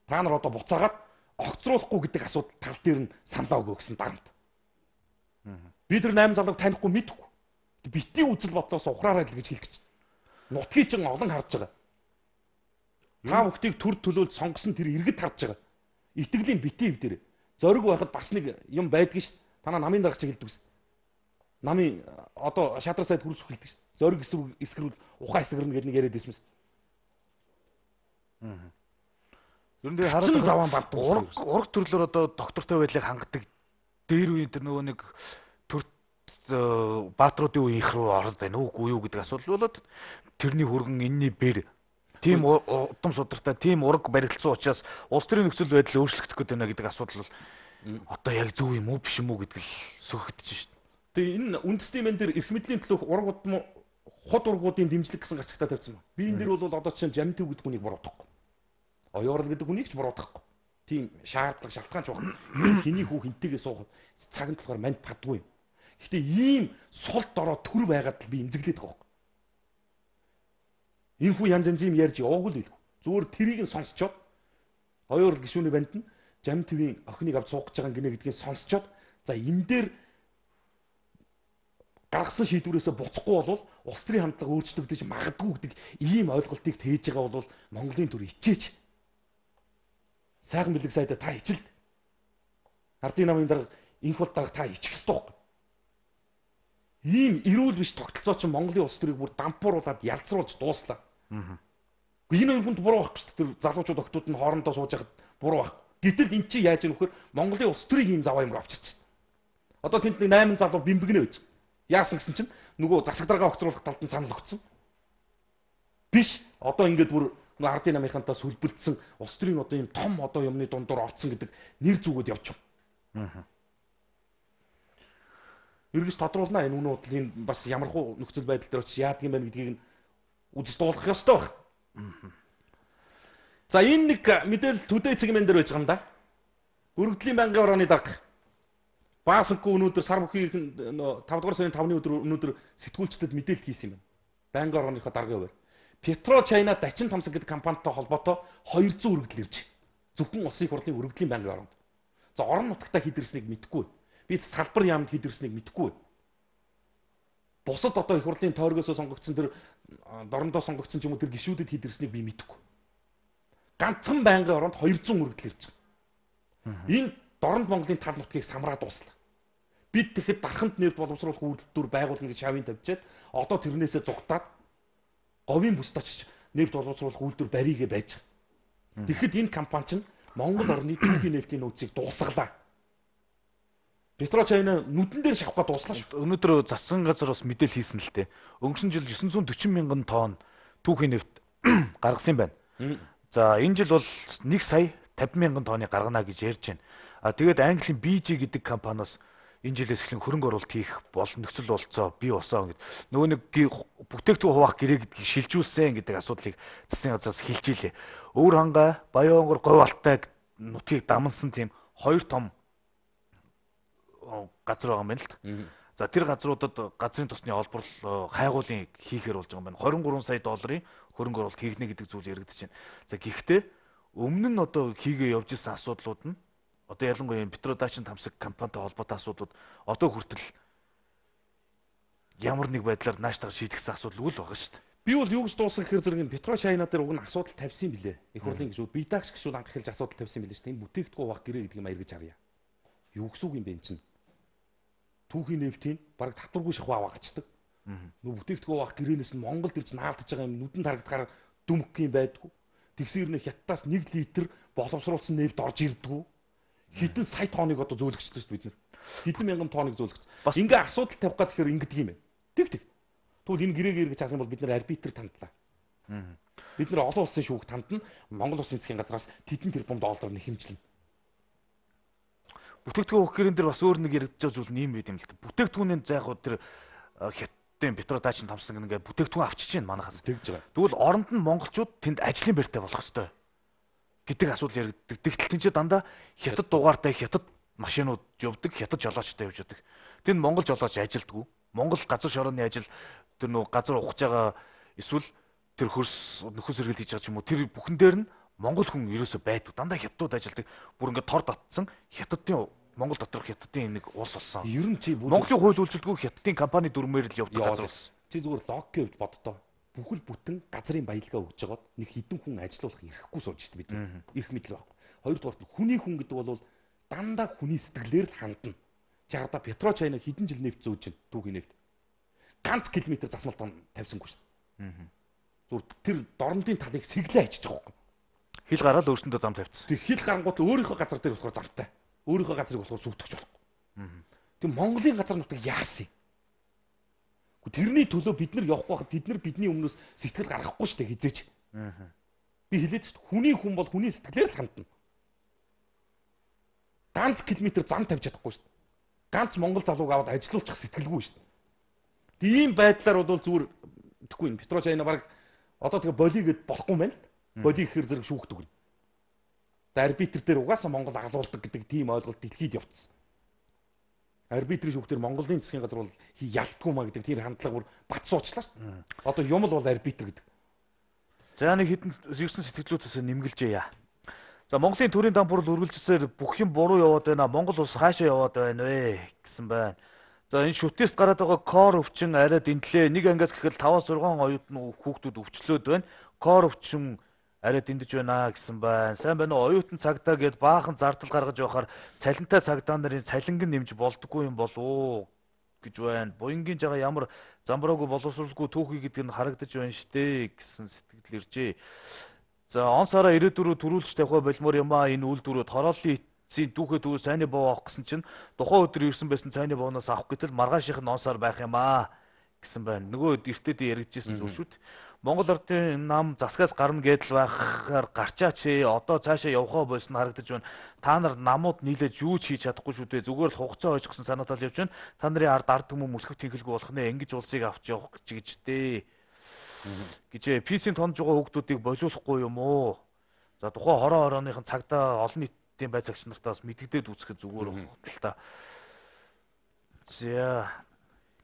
Та нар одоо буцаагаад огцруулахгүй гэдэг асуудал тал дээр нь саналаа өгөө гэсэн дарамт. Би тэр восемь залууг танихгүй мэдэхгүй. Битгий үзэл бодлоос ухраарай л гэж хэлэх гэж. Нутгийг чинь олон харж байгаа. Та бүхтийг төр төлөөлж сонгосон тэр иргэд харж байгаа. Итгэлийн битий хэв дээр зориг байхад бас нэг юм байдгийг ш. Танаа намын дарга чиг хэлдэг ш. Намын одоо шатрал сайд хүрс хэлдэг ш. Зориг эсвэр эсгэрүүл ухаан эсгэрнэ гэдэг нэг яриад байсан ш. Аа. Ер нь хараад заван бат ураг ураг төрлөөр одоо доктортой байдлыг хангадаг дээр үе тэр нөгөө нэг төр баатруудын үе их рүү ороод байна уугүй юу гэдэг асуудал болоод тэрний хөргөн энэний бэр тийм удам судартай тийм ураг баригдсан учраас улс төрийн нөхцөл байдал өөрчлөгдөх гээд байна гэдэг асуудал бол одоо яг зөв юм уу биш юм уу гэдэг л сөхөгдөж шít. Тэгээ энэ үндэсний мэн дээр эрх мэдлийн төлөөх ураг удам хот ургуудын дэмжлэг гэсэн гацагтаа тавьсан байна. Би энэ дээр бол одоо чинь Жамин төв гэдэг хүнийг буруутгахгүй. Оюурал гэдэг хүнийг ч буруутгахгүй. Тийм шаардлага шалтгаан ч байна. Хиний хүү хинтэйгээ суухад цаг нь болохоор манд падгүй. Гэхдээ ийм сул дорой төр байгаад л би эмзэглээд байгаа. Энэ хүү янз янз юм ярьж яваагүй л билгүй. Зүгээр тэрийг нь сонсчоод оюурал гишүүний банд нь Жамин төвийн охиныг авч суугаж байгаа гинэ гэдгийг сонсчоод за энэ дээр гаргасан шийдвэрээсээ буцахгүй бол улс төрийн хандлага өөрчлөгдөж магадгүй гэдэг ийм ойлголтыг тээж байгаа бол Монголын төр ичээч. Сайхан бэлэг сайдаа та ичэлд. Ардын намын дарга инх бол дарга та ичих ёстой. Ийм эрүүл биш тогтолцоо чинь Монголын улс төрийг бүр дампууруулад ялцруулж дууслаа. Аа. Энэ хүн буруу байхгүй шүү дээ. Тэр залуучууд октод нь хоорондоо сууж байхад буруу байх. Гэтэл эн чинь яаж нөхөр Монголын улс төрийг ийм заваа юмруу авчирч байна. Одоо тэнд нэг восемь залуу бимбэгнэ байж. Яасан гэсэн чинь нөгөө засаг даргаа огцруулах талд нь санал өгсөн. Биш одоо ингээд бүр ардын намынхантаа сүлбэлдсэн улс төрийн одоо ийм том одоо юмны дундуур орцсон гэдэг нэр зүгүүд явчих. Эргэж тодруулнаа энэ үнэ бодлын бас ямархуу нөхцөл байдал дээр очиж яадаг юм байна гэдгийг нь үзэж дуулах ёстой баг. За энэ нэг мэдээлэл төдөө цэгмэн дээр байж байгаа юм да. Өргөдлийн байнгын орооны дарга Баасангүй өнөөдөр сар бүхий тавдугаар сарын тавны өдөр өнөөдөр сэтгүүлчдэд мэдээлэл хийсэн юм байна. Байнгын орооныхоо даргын хувьд Петро Чайна Дачин Тамсан гэдэг компанитай холбоотой хоёрдугаар өргөдөл ирж. Зөвхөн улсын их хурлын өргөдлийн байнгын ороонд. За орон нутагтаа хийдэрснийг мэдэхгүй. Бид салбар яамд хийдэрснийг мэдэхгүй. Бусад одоо их хурлын тойргоосоо сонгогдсон тэр дорндоо сонгогдсон ч юм уу тэр гишүүдэд хийдэрснийг би мэдэхгүй. Ганцхан байнгын ороонд хоёрдугаар өргөдөл ирж байгаа. Энэ дорнд Монголын тал нутгийг самраад дуслаа. Бид тэгэхэд дарханд нэрд боловсруулах үйлдвэр байгуулна гэж шавын тавьчаад одоо тэрнээсээ зугатаад говийн бүсд очиж нэрд боловсруулах үйлдвэр баригээ байж байгаа. Тэгэхэд энэ компани чинь Монгол орны түүхийн нефтийн нөөцийг дуусгалаа. Петро Чайна нүдэн дээр шавхаа дууслаа шүү. Өнөөдөр засгийн газар бас мэдээлэл хийсэн л дээ. Өнгөрсөн жил дев'ять hundred forty мянган тонн түүхийн нефт гаргасан байна. За энэ жил бол one сая fifty мянган тонны гаргана гэж ярьж байна. А тэгээд Английн би жи гэдэг компаниас энэ жилээс эхлэн хөрөнгө оруулалт хийх бол нөхцөл болцоо бий болсон гэдэг. Нөгөө нэг бүтээгдэхүүн хуваах гэрээ гэдгийг шилжүүлсэн гэдэг асуудлыг засгийн газраас хэлж илээ. Өвөр хангай, Баян онгор, Говь алтай нутгийг дамнсан тийм хоёр том газар байгаа юм байна л та. За тэр газруудад газрын тосны олбор хайгуулын хийхээр болж байгаа юм байна. twenty-three сая долларын хөрөнгө оруулалт хийгнэ гэдэг зүйл яригдэж байна. За гэхдээ өмнө нь одоо хийгээ явж исэн асуудлууд нь одоо ялангуяа Петро Дачин Тамсаг компанитай холбоотой асуудлууд одоо хүртэл ямар нэг байдлаар нааштайгаар шийдэгсэн асуудал үл байгаа шүү дээ. Би бол юу гэж дуусгах гэхээр зэрэг энэ Петро Чайна дээр уг нь асуудал тавьсан юм билээ. Их хурлын гишүүд бие даагч гишүүд анх эхэлж асуудал тавьсан юм билээ шүү дээ. Энэ бүтээгдэхүүн хуваах гэрээ гэдэг юм аяргаж авъя. Юу гэсэн үг юм бэ энэ чинь? Түүхийн нефтийн бараг татваргүй шахуу аваагачдаг. Нөө бүтээгдэхүүн хуваах гэрээнээс нь Монголд ирж наалтаж байгаа юм нүдэн тарагдахаар дүмх юм байдгүй. Тэгсээр нэ хятадаас one литр боловсруулсан нефт орж ирдэггүй. Хэдэн сая тонныг одоо зөөлгөжсөн шүү дээ бид нэр. Хэдэн мянган тонныг зөөлгөжсөн. Бас ингээ асуудал тавих гад тэгэхээр ингэдэг юм байна. Тэг тэг. Тэгвэл энэ гэрээг эргэж авах юм бол бид нэр арбитр тандлаа. Бид нэр олон улсын шүүх тандна Монгол улсын засгийн газраас тэдэн тэрбум доллар нь хэмжлэнэ. Бүтээгдэхүүн хөх гэрэн дээр бас өөр нэг яригдж байгаа зүйл нь юм байт юм л та. Бүтээгдэхүүнийн за яг тэр хятадын Петро Дачин Тамсан ингээ бүтээгдэхүүн авчиж байна манайхаас тэгж байгаа. Тэгвэл оронд нь монголчууд тэнд ажлын байртай болох ёстой гэдэг асуудал яригддаг. Тэгтэл тэн чи дандаа хятад дугаартай хятад машинууд явдаг, хятад жолоочтой явж байдаг. Тэнд монгол жолооч ажилддаг. Монгол газар шорооны ажил тэр нөө газар ухаж байгаа эсвэл тэр хөрс нөхөс сэргээл хийж байгаа ч юм уу тэр бүхэн дээр нь монгол хүн ерөөсөө байдаг. Дандаа хятадууд ажилддаг. Бүр ингээ тор татсан хятадын Монгол доторх хятадын нэг улс болсон. Ер нь чи Монголын хууль үйлчилдэггүй хятадын компани дүрмээр л явдаг газар болсон. Чи зүгээр логикийн хувьд боддоо. Бүхэл бүтэн газрын баялгаа өгж жагаад нэг хідэн хүн ажилуулах эрхгүй сууж штэ бид. Ирэх мэдл байхгүй. Хоёрдугаар нь хүний хүн гэдэг бол дандаа хүний сэтгэлээр л хандна. Чагада Петро Чайна хідэн жил нефт зөөж чинь түүхийн нефт. Ганц километр засмалтан тавьсангүй штэ. Зүгээр тэр дорнодын талыг сэглээ ачиж байгаа байхгүй. Хил гараад өөрсөндөө зам тавьчихсан. Тэг хил гарангууд өөрийнхөө газар дээр болохоор замтай. Өөрийнхөө газрыг болохоор сүвтгэж болохгүй. Тэг Монголын газар нутаг яасан юм? Тэрний төлөө бид нар явахгүй хахад тэд нар бидний өмнөөс сэтгэл гаргахгүй штэ хизээч. Би хэлээд шүү дээ. Хүний хүн бол хүний сэтгэлээр л хандна. Ганц километр зам тавьж чадахгүй шүү дээ. Ганц монгол залууг аваад ажилуулчих сэтгэлгүй шүү дээ. Тийм байдлаар бол зүгээр тэгэхгүй энэ Петро Чайна баг одоо тэгээ болигээд болохгүй юм байна л. Боли гэхэр зэрэг шүүхт өгнө. Арбитр дээр угаасаа Монгол агалуулдаг гэдэг тийм ойлголт дэлхийд явцсан. Арбитрийн шүүхтэр Монголын засгийн газар бол ялтгүй маа гэдэг тэр хандлага бүр бат суучлаа шүү дээ. Одоо юм л бол арбитр гэдэг. За нэг хэдэн зэвсэн сэтгэлзүйтэйс нэмгэлжээ яа. За Монголын төрийн дампуурл үргэлжлэсээр бүх юм буруу яваад байна. Монгол улс хаашаа яваад байна вэ гэсэн байна. За энэ шүтээс гараад байгаа кор өвчин арай дэндлээ. Нэг ангиас гэхэл five six оюутны хүүхдүүд өвчлөөд байна. Кор өвчин арай дэндэж байна гэсэн байна. Сайн байна уу? Оюутан цагдаа гээд баахан зардал гаргаж явахаар цалинтай цагдаа нарын цалинг нь нэмж болдоггүй юм болов гэж байна. Буянгийн жагаа ямар замбраагүй боловсруулахгүй түүхий гэдэг нь харагдаж байна штэ гэсэн сэтгэл иржээ. За он сараа ирээдүрөө төрүүлж тавих болмоор юм аа энэ үйлдвэрүүд хорооллын эцсийн түүхээ түүх сайнны боо авах гэсэн чинь тухайн өдөр ирсэн байсан сайнны бооноос авах гэтэл маргаашийнх нь он сар байх юм аа гэсэн байна. Нөгөө эртэд яригдчихсэн зүйл шүү дээ. Монгол Ардын нам засгаас гарна гэдэл байхаар гарчаач ээ. Одоо цаашаа явхаа болсон харагдаж байна. Та нар намууд нийлээд юу ч хийж чадахгүй шүү дээ. Зүгээр л хугацаа ойж гсэн санаатал явж байна. Та нарын ард ард түмэн мөсгөх тэнхэлгүй болох нэ. Ингэж улсыг авч явах гэж гэж дээ. Гэжээ пи-ийн тонж байгаа хүүхдүүдийг болиулахгүй юм уу? За тухайн хороо хорооныхын цагдаа олон нийтийн байцаагч нартаас мэддэгдээд үүсгэх зүгээр байна та. За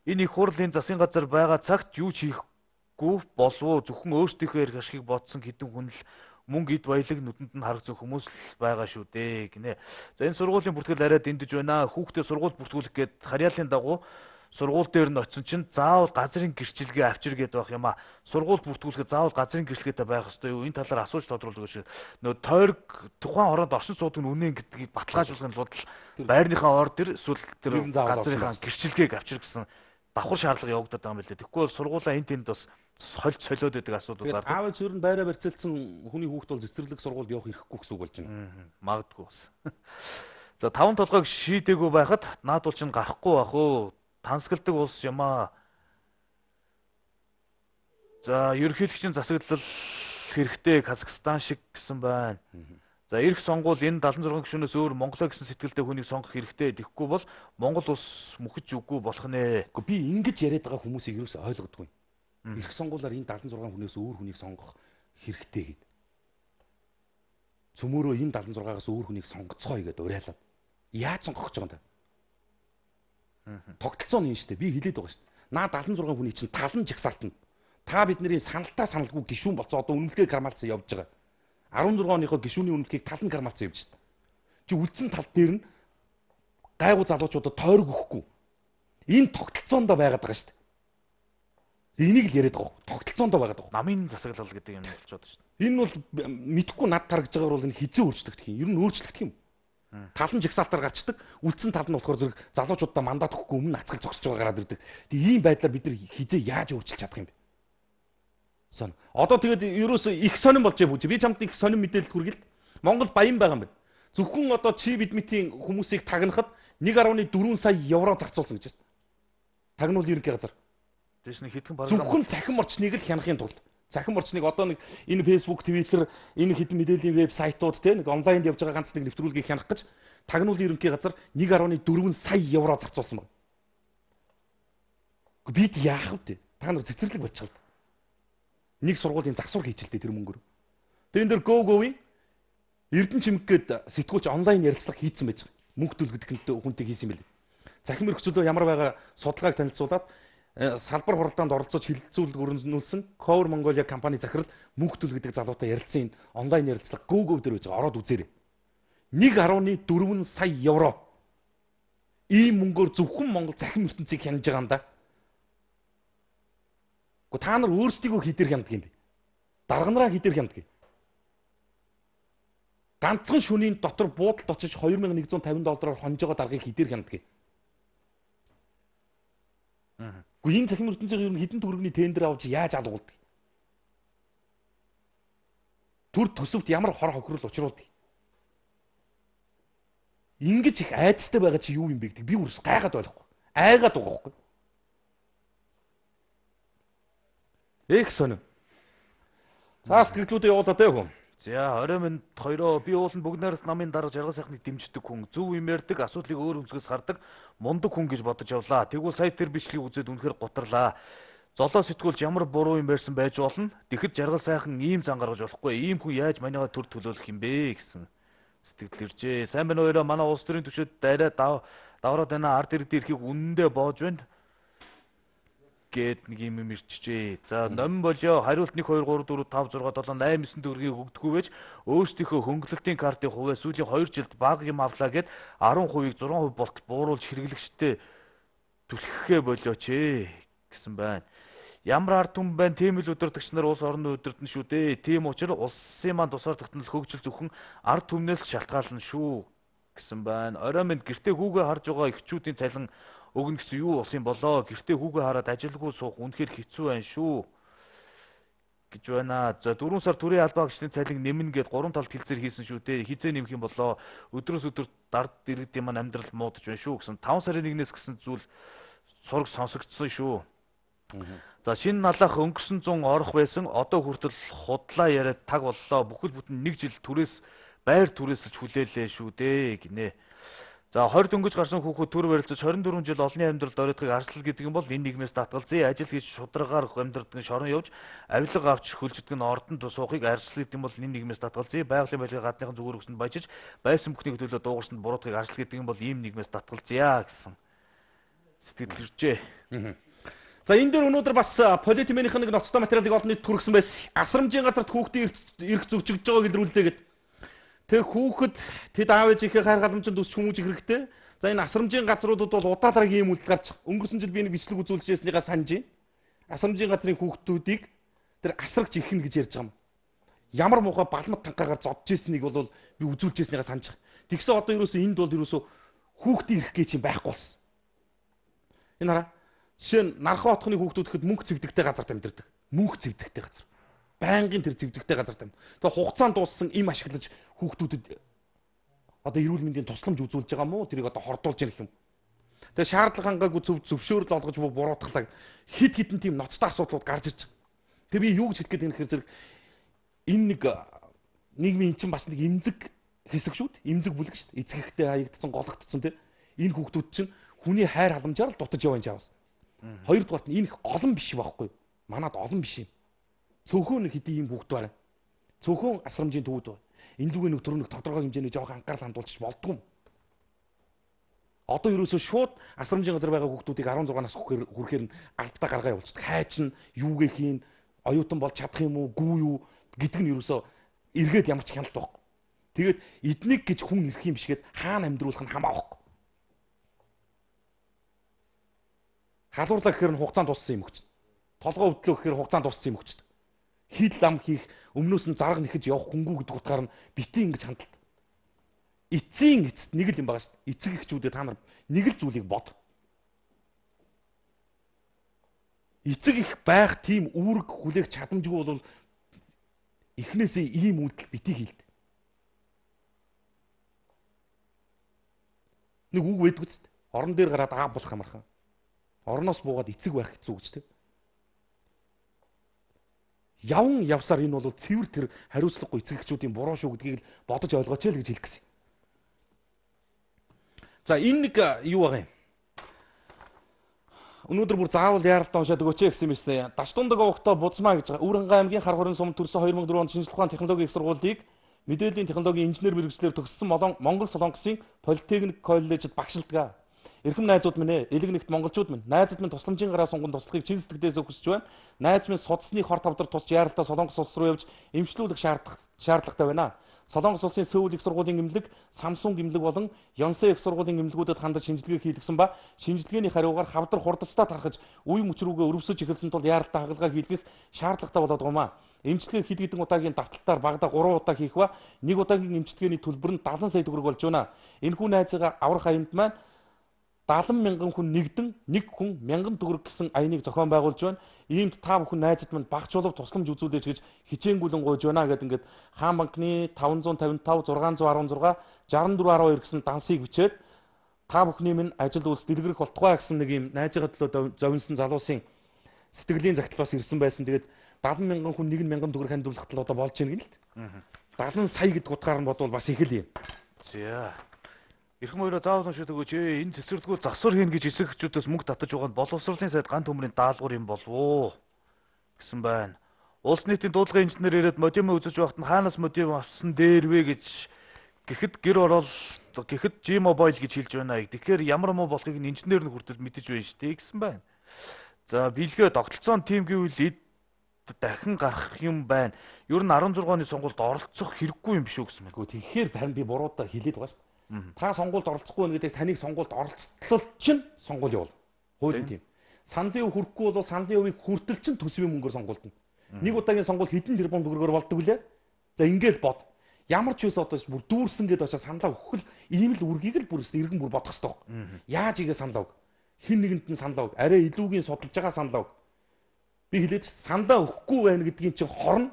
энэ их хурлын засгийн газар байгаа цагт юу ч хийхгүй болов уу? Зөвхөн өөрсдийнхөө эрх ашигыг бодсон хэдэн хүн л мөнгө эд баялаг нүдэнд нь харагдсан хүмүүс л байгаа шүү дээ гинэ. За энэ сургуулийн бүртгэл арай дэндэж байна. Хүүхдээ сургууль бүртгүүлэх гээд харьяалын дагуу сургууль дээр нь очсон чинь заавал газрын гэрчлэгээ авчир гээд байх юм а. Сургууль бүртгүүлэхэд заавал газрын гэрчлэгээтэй байх ёстой юу? Энэ талаар асууж тодруулах шиг. Нөө тойрог тухайн хороонд оршин суудаг нь үнэн гэдгийг баталгаажуулахын тулд байрныхаа ор дээр эсвэл тэр газрынхаа гэрчлэгээг авчир гэсэн давхар шаардлага явагдаад байгаа юм билээ. Тэгэхгүй бол сургуулаа энэ тэнд бас сольж солиод байдаг асуудал гардаг. Аав ээж өөр нь байраа барьцаалсан хүний хүүхд бол цэцэрлэг сургуульд явах хэрэггүй гэсэн үг болж байна. Магадгүй бас. За таван толгойг шийдээгүй байхад наадуул чинь гарахгүй байх уу? Тансгалдаг улс юм аа. За ерөнхийлөгчийн засаглал хэрэгтэй Казахстан шиг гэсэн байна. За ирэх сонгуул энэ дадлан зургийн гишүүнээс өөр Монголоо гэсэн сэтгэлтэй хүнийг сонгох хэрэгтэй. Тэгэхгүй бол Монгол улс мөхөж үгүй болох нэ. Гэхдээ би ингэж яриад байгаа хүмүүсийг юу ч ойлгодгүй. Ирэх сонгуулаар энэ дадлан зургийн хүнээс өөр хүнийг сонгох хэрэгтэй гэд. Цөмөөрөө энэ дадлан зургаагаас өөр хүнийг сонгоцгоё гэдээ уриалаад. Яаж сонгох гэж байгаа юм бэ? Тогтолцоо нь юм шүү дээ. Би хэлээд байгаа шүү дээ. Наа дадлан зургийн хүний чинь талан жагсаалтна. Та бидний саналтаа саналгүй гишүүн болцоо одоо үнэлгээ кармалцсан явж байгаа. арван зургаан оныхоо гишүүний үнэлгээг талан кармалцсан явж шүү дээ. Чи үлдсэн тал дээр нь гайгүй залуучуудад тойрог өгөхгүй. Энэ тогтолцоонд байгаад байгаа шүү дээ. Энийг л яриад байгаа. Тогтолцоонд байгаад байгаа. Намын засаглал гэдэг юм болчиход шүү дээ. Энэ бол мэдхгүй над тарагж байгаагаар бол энэ хизээ өөрчлөгдөх юм. Ер нь өөрчлөгдөх юм. Талан жагсаалтаар гарчдаг. Үлдсэн тал нь болохоор зэрэг залуучуудаа мандат өгөхгүй өмнө ацгал зогсож байгаа гараад ирдэг. Тэгээ ийм байдлаар бид нар хизээ яаж өөрчилж чадах юм бэ? Сон. Одоо тэгээд ерөөсөө их сонирн болж байгаа. Би чамд их сонирн мэдээлэл хүргэлт. Монгол баян байгаа юм байна. Зөвхөн одоо чи бидмитийн хүмүүсийг тагнахад нэг нугас дөрвөн сая евро зарцуулсан гэж байна. Тагнуул ерөнхий газар. Тэс нэг хэдхэн програм. Зөвхөн цахим орчныг л хянахын тулд. Цахим орчныг одоо нэг энэ Facebook, Twitter, энэ хэдэн мэдээллийн вебсайтууд те нэг онлайнд явж байгаа ганц нэг нэвтрүүлгийг хянах гэж тагнуулын ерөнхий газар нэг нугас дөрвөн сая евро зарцуулсан байна. Бид яах вэ? Та нар цэцэрлэг болчихлоо. Нэг сургуулийн засвар хийчихэлтэй тэр мөнгөөр. Тэрэн дээр Go Go-ийн Эрдэнэ чимэг гээд сэтгүүлч онлайн ярилцлага хийцэн байж байгаа. Мөнгө төлгөдөхөнтэй хүнтэй хийсэн юм билээ. Захим өргөцөлөө ямар байгаа судалгааг танилцуулаад салбар хуралдаанд оролцож хилцүүлэг өрнүүлсэн Cover Mongolia компани захирал мөнгө төлгөдөг залуутай ярилцсан энэ онлайн ярилцлага Go Go дээр байж байгаа. Ороод үзээрэй. нэг нугас дөрвөн сая евро. Ийм мөнгөөр зөвхөн Монгол захим ертөнцийг хянаж байгаа юм да. Гэхдээ та нар өөрсдийгөө хідэр хяндаг юм бэ? Дарганараа хідэр хяндаг. Ганцхан шөнийн дотор буудалд очиж хоёр мянган нэгдүгээр тавин доллараар хонж байгаа даргаыг хідэр хяндаг. Аа. Гэхдээ энэ захим ертөнцийн ер нь хідэн төгрөгийн тендер авч яаж алгуулдаг? Түр төсөвт ямар хор хохирол учруулдаг? Ингэж их айдастай байгаа чи юу юм бэ гэдэг би үрс гайхаад байхгүй. Айгаад байгаа байхгүй. Их сонир. Цаас гэрлүүдээ явуулаад ээ хүн. За орой минь хоёроо би ууланд бүгд найралт намын дарга жаргал сайхныг дэмждэг хүн, зөв юм ярьдаг, асуудлыг өөр өнцгөөс хардаг, мундаг хүн гэж бодож явлаа. Тэгвэл сайт дээр бичлэгийг үзээд үнэхээр гутарлаа. Золоо сэтгүүлч ямар буруу юм ярьсан байж болно. Тэгэхэд жаргал сайхан ийм зан гаргаж болохгүй. Ийм хүн яаж манайгаа төр төлөөлөх юм бэ гэсэн сэтгэл иржээ. Сайн байна уу хоёроо, манай улс төрийн түвшинд дайраа давраад байна. Ард иргэд эрхийг үнэндээ боож байна гэд нэг юм ирчихжээ. За номин болё хариулт нэг хоёр гурав дөрөв тав зурга долоо восемь девять төгрөгийг өгдөггүй байж өөрсдийнхөө хөнгөлөлтийн картын хувьд сүүлийн хоёр жилд бага юм авлаа гэд арван хувийг зургаан хувь болт бууруулж хэрэглэгчтэй түлхэхээ болооч ээ гэсэн байна. Ямар ард түмэн байна, тийм л удирдагч нар улс орны удирдна шүү дээ. Тийм учраас улсын маань тусаар тогтнол хөгжил зөвхөн ард түмнээс шалтгаална шүү гэсэн байна. Орой минь гэртээ хүүгээ харж байгаа эхчүүдийн цалин өгнө гэсэн юу болсон болоо. Гэртээ хүүгээ хараад ажилгүй суух үнэхээр хэцүү байна шүү гэж байна. За дөрвөн сар төрийн албаа гчдийн цалин нэмнэ гэд гурван талд хэлцээр хийсэн шүү дээ. Хизээ нэмэх юм болоо. Өдрөөс өдөр дард иргэдийн маань амьдрал муудаж байна шүү гэсэн. таван сарын нэгнээс гэсэн зүйл сураг сонсогдсон шүү. За шинэ налах өнгөрсөн зун орох байсан. Одоо хүртэл худлаа яриад таг боллоо. Бүхэл бүтэн нэг жил түрээс байр түрээсэлж хүлээлээ шүү дээ гинэ. За хорь дөнгөж гарсан хүүхэд төр барилцаж хорин дөрвөн жил олонний амьдралд оройтхыг арслал гэдэг нь бол энэ нийгмээс татгалзъя. Ажил хийж шударгаар амьдрдаг шорон явж авилга авч хөлждөг нь ордонд суухыг арслал гэдэг нь бол энэ нийгмээс татгалзъя. Байгалийн байлгаа гадныхан зүгээр өгсөнд баяжиж байсан бүхний төлөө дуугарсанд буруутгыг арслал гэдэг нь бол ийм нийгмээс татгалзъя гэсэн сэтгэл төржээ. За энэ дээр өнөөдөр бас политикийнх нэг ноцтой материалыг олон нийт хүргэсэн байсан. Асрамжийн газарт хүүхдийн эрх зөвчөж байгааг илрүүлдэг. Тэг хүүхэд тэд аав ээжийнхээ хайр халамжинд өсч хүмүүжих хэрэгтэй. За энэ асрамжийн газруудад бол удаа дараагийн юм үлд гарч өнгөрсөн жил би нэг бичлэг үзүүлжсэнийгээ санаж байна. Асрамжийн газрын хүүхдүүдийг тэр асрагч ихнэ гэж ярьж байгаа юм. Ямар муухай балмад танкаагаар зодж ирснийг бол би үзүүлжсэнийгээ санаж байгаа. Тэгсэн одоо юусоо энд бол юусоо хүүхдийн эрх гэж юм байхгүй болсон. Энэ хараа. Жишээ нь Нархан хотхны хүүхдүүд гэхэд мөнгө цэвдэгтэй газарт амьдардаг. Мөнгө цэвдэгтэй газар. Байнгын тэр цэвдэгтэй газарт амьд. Тэгээ хугацаанд дууссан им ашиглаж хүүхдүүдэд одоо эрүүл мэндийн тусламж үзүүлж байгаа мó тэрийг одоо хордуулж яах юм. Тэгээ шаардлага хангаагүй зөв зөвшөөрөл олгож буруутгалаа хид хідэн тийм ноцтой асуудлууд гарч ирж байгаа. Тэгээ би юу гэж хэлэх гээд байна гэхээр зэрэг энэ нэг нийгмийн эн чинь бас нэг эмзэг хэсэг шүү дээ. Эмзэг бүлэг шүү дээ. Эцэгтэй хаягдсан, гологдсон тийм. Энэ хүүхдүүд чинь хүний хайр халамжаар л дутаж яваа юм жаавс. Хоёрдугаарт нь энэ их олон биш байхгүй. Манад олон биш юм. Цөөхөн хэдийн юм хүүхд байна. Цөөхөн асрамжийн төвд байна. Энэ лүгээ нэг төрөв нэг тодорхой хэмжээний жоох анхаарал хандуулчих болдгоо. Одоо ерөөсөө шууд асрамжийн газар байгаа хүүхдүүдийг арван зургаан нас хүрэхээр нь альбтаа гаргаа явуулчихдаг. Хайч нь юугээ хийн, оюутан бол чадах юм уу, гүү юу гэдэг нь ерөөсөө эргээд ямар ч хяналт байхгүй. Тэгээд эднийг гэж хүн ирэх юм бишгээд хаана амьдруулах нь хамаа байхгүй. Халуурлаа гэхээр нь хугацаанд туссан юм өгч. Толгой өвдлөө гэхээр хугацаанд туссан юм өгч. Хил лам хийх өмнөөс нь зарга нэхэж явах хөнгүү гэдэг утгаар нь битгий ингэж хандалт. Эцсийн эцэст нэг л юм байгаа шүү дээ. Эцэг эхчүүдээ та нар нэг л зүйлийг бод. Эцэг их байх тийм үүрэг хүлээх чадамжгүй бол эхнээсээ ийм үйлдэл битгий хийлд. Нэг үг байдгүй ч орон дээр гараад аа болох амархан. Орноос буугаад эцэг байх хэцүү гэж тийм. Явн явсаар энэ бол цэвэр тэр хариуцлагагүй эцэг эхчүүдийн буруу шүү гэдгийг л бодож ойлгооч л гэж хэлэх гэсэн. За энэ нэг юу байгаа юм. Өнөөдөр бүр заавал яаралтай уншаад өгөөч гэсэн юм байна. Даштундаг овогтой Будзмаа гэж Үүрэнгээ аймгийн хар хорин сум төрсөн хоёр мянга дөрвөн онд шинжлэх ухааны технологийн их сургуулийг мэдээллийн технологийн инженер мэргэжлээр төгссөн Монгол Солонгосын Политехник коллежид багшилдаг. Эрхэм найзууд минь ээ, элэг нэгт монголчууд минь, найзууд минь тусламжийн гараа сунган туслахыг чин сэтгэлдээс хүсэж байна. Найз минь судасны хор тавдар тусч яаралтай Солонгос улс руу явж эмчлүүлэх шаардлагатай шаардлагатай байна. Солонгос улсын Сөүл их сургуулийн эмнэлэг, Samsung эмнэлэг болон Yonsei их сургуулийн эмнэлгүүдэд хандаж шинжилгээ хийлгэсэн ба шинжилгээний хариугаар хавдар хурдцтай тархаж үе мөч рүүгээ өрөвсөж эхэлсэн тул яаралтай хагалгаа хийлгэх шаардлагатай болоод байгаа юм. Эмчилгээ хэд хэдэн удаагийн давталтаар багада гурван удаа хийх ба нэг удаагийн эмчилгээний төлбөр нь далайн сая төгрөг болж байна. Энэхүү найзыгаа аврах аянд маань даалан мянган хүн нэгдэн нэг хүн мянган төгрөг гэсэн аяныг зохион байгуулж байна. Иймд та бүхэн найзад минь багц чулуу тусламж үзүүлээч гэж хичээнгүлэн гуйж байна гэдэг ингээд Хаан банкны таван зуун тавин тав зургаан зуун арван зургаан шестдесет дөрвөн арван хоёр гэсэн дансыг бичээд та бүхний минь ажил үйлс дэлгэрэх болтугай гэсэн нэг юм найзыгаа төлөө зовнсон залуусын сэтгэлийн загтал бас ирсэн байсан. Тэгээд даалан мянган хүн нэг мянган төгрөг хандуулах тал одоо болж байна гэнэ л дээ. даалан сая гэдэг утгаар нь бодвол бас их л юм. За Ирхэм хоёроо заавал уншаад өгөөч ээ. Энэ цэцэрлэгүүд засвар хийн гэж эсрэг хүчүүдээс мөнгө татаж байгаа нь боловсролын сайд ганц төмрийн даалгавар юм болов уу гэсэн байна. Улс нийтийн дуудлагын инженер ирээд модем үзэж байхад нь хаанаас модем авсан дээр вэ гэж гэхэд гэр орол гэхэд G-Mobile гэж хэлж байна. Тэгэхээр ямар муу болохыг нь инженер нь хүртэл мэдэж байна шүү дээ гэсэн байна. За бэлгээ тогтолцоон тим гэвэл эд дахин гарах юм байна. Ер нь арван зургааны сонгуульд оролцох хэрэггүй юм биш үү гэсэн байна. Тэгэхээр харин би буруудаа хэлээд байгаа шүү дээ. Та сонгуульд оролцохгүй байна гэдэг таныг сонгуульд оролцтол чинь сонгуул явуул. Хуулийн тийм. Сандын өв хүрэхгүй бол сандын өвийг хүртэл чинь төсвийн мөнгөөр сонгуульдна. Нэг удаагийн сонгуул хэдэн тэрбум төгрөгөөр болдог үлээ. За ингээл бод. Ямар ч байсан одоо бүр дүүрсэн гэдээ очиж саналаа өгөх л ийм л үргийг л бүр иргэн бүр бодох хэрэгтэй. Яаж игээ саналаа өг. Хин нэгэнд нь саналаа өг. Арай илүүгийн судалж байгаа саналаа өг. Би хэлээд саналаа өгөхгүй байна гэдгийн чинь хорн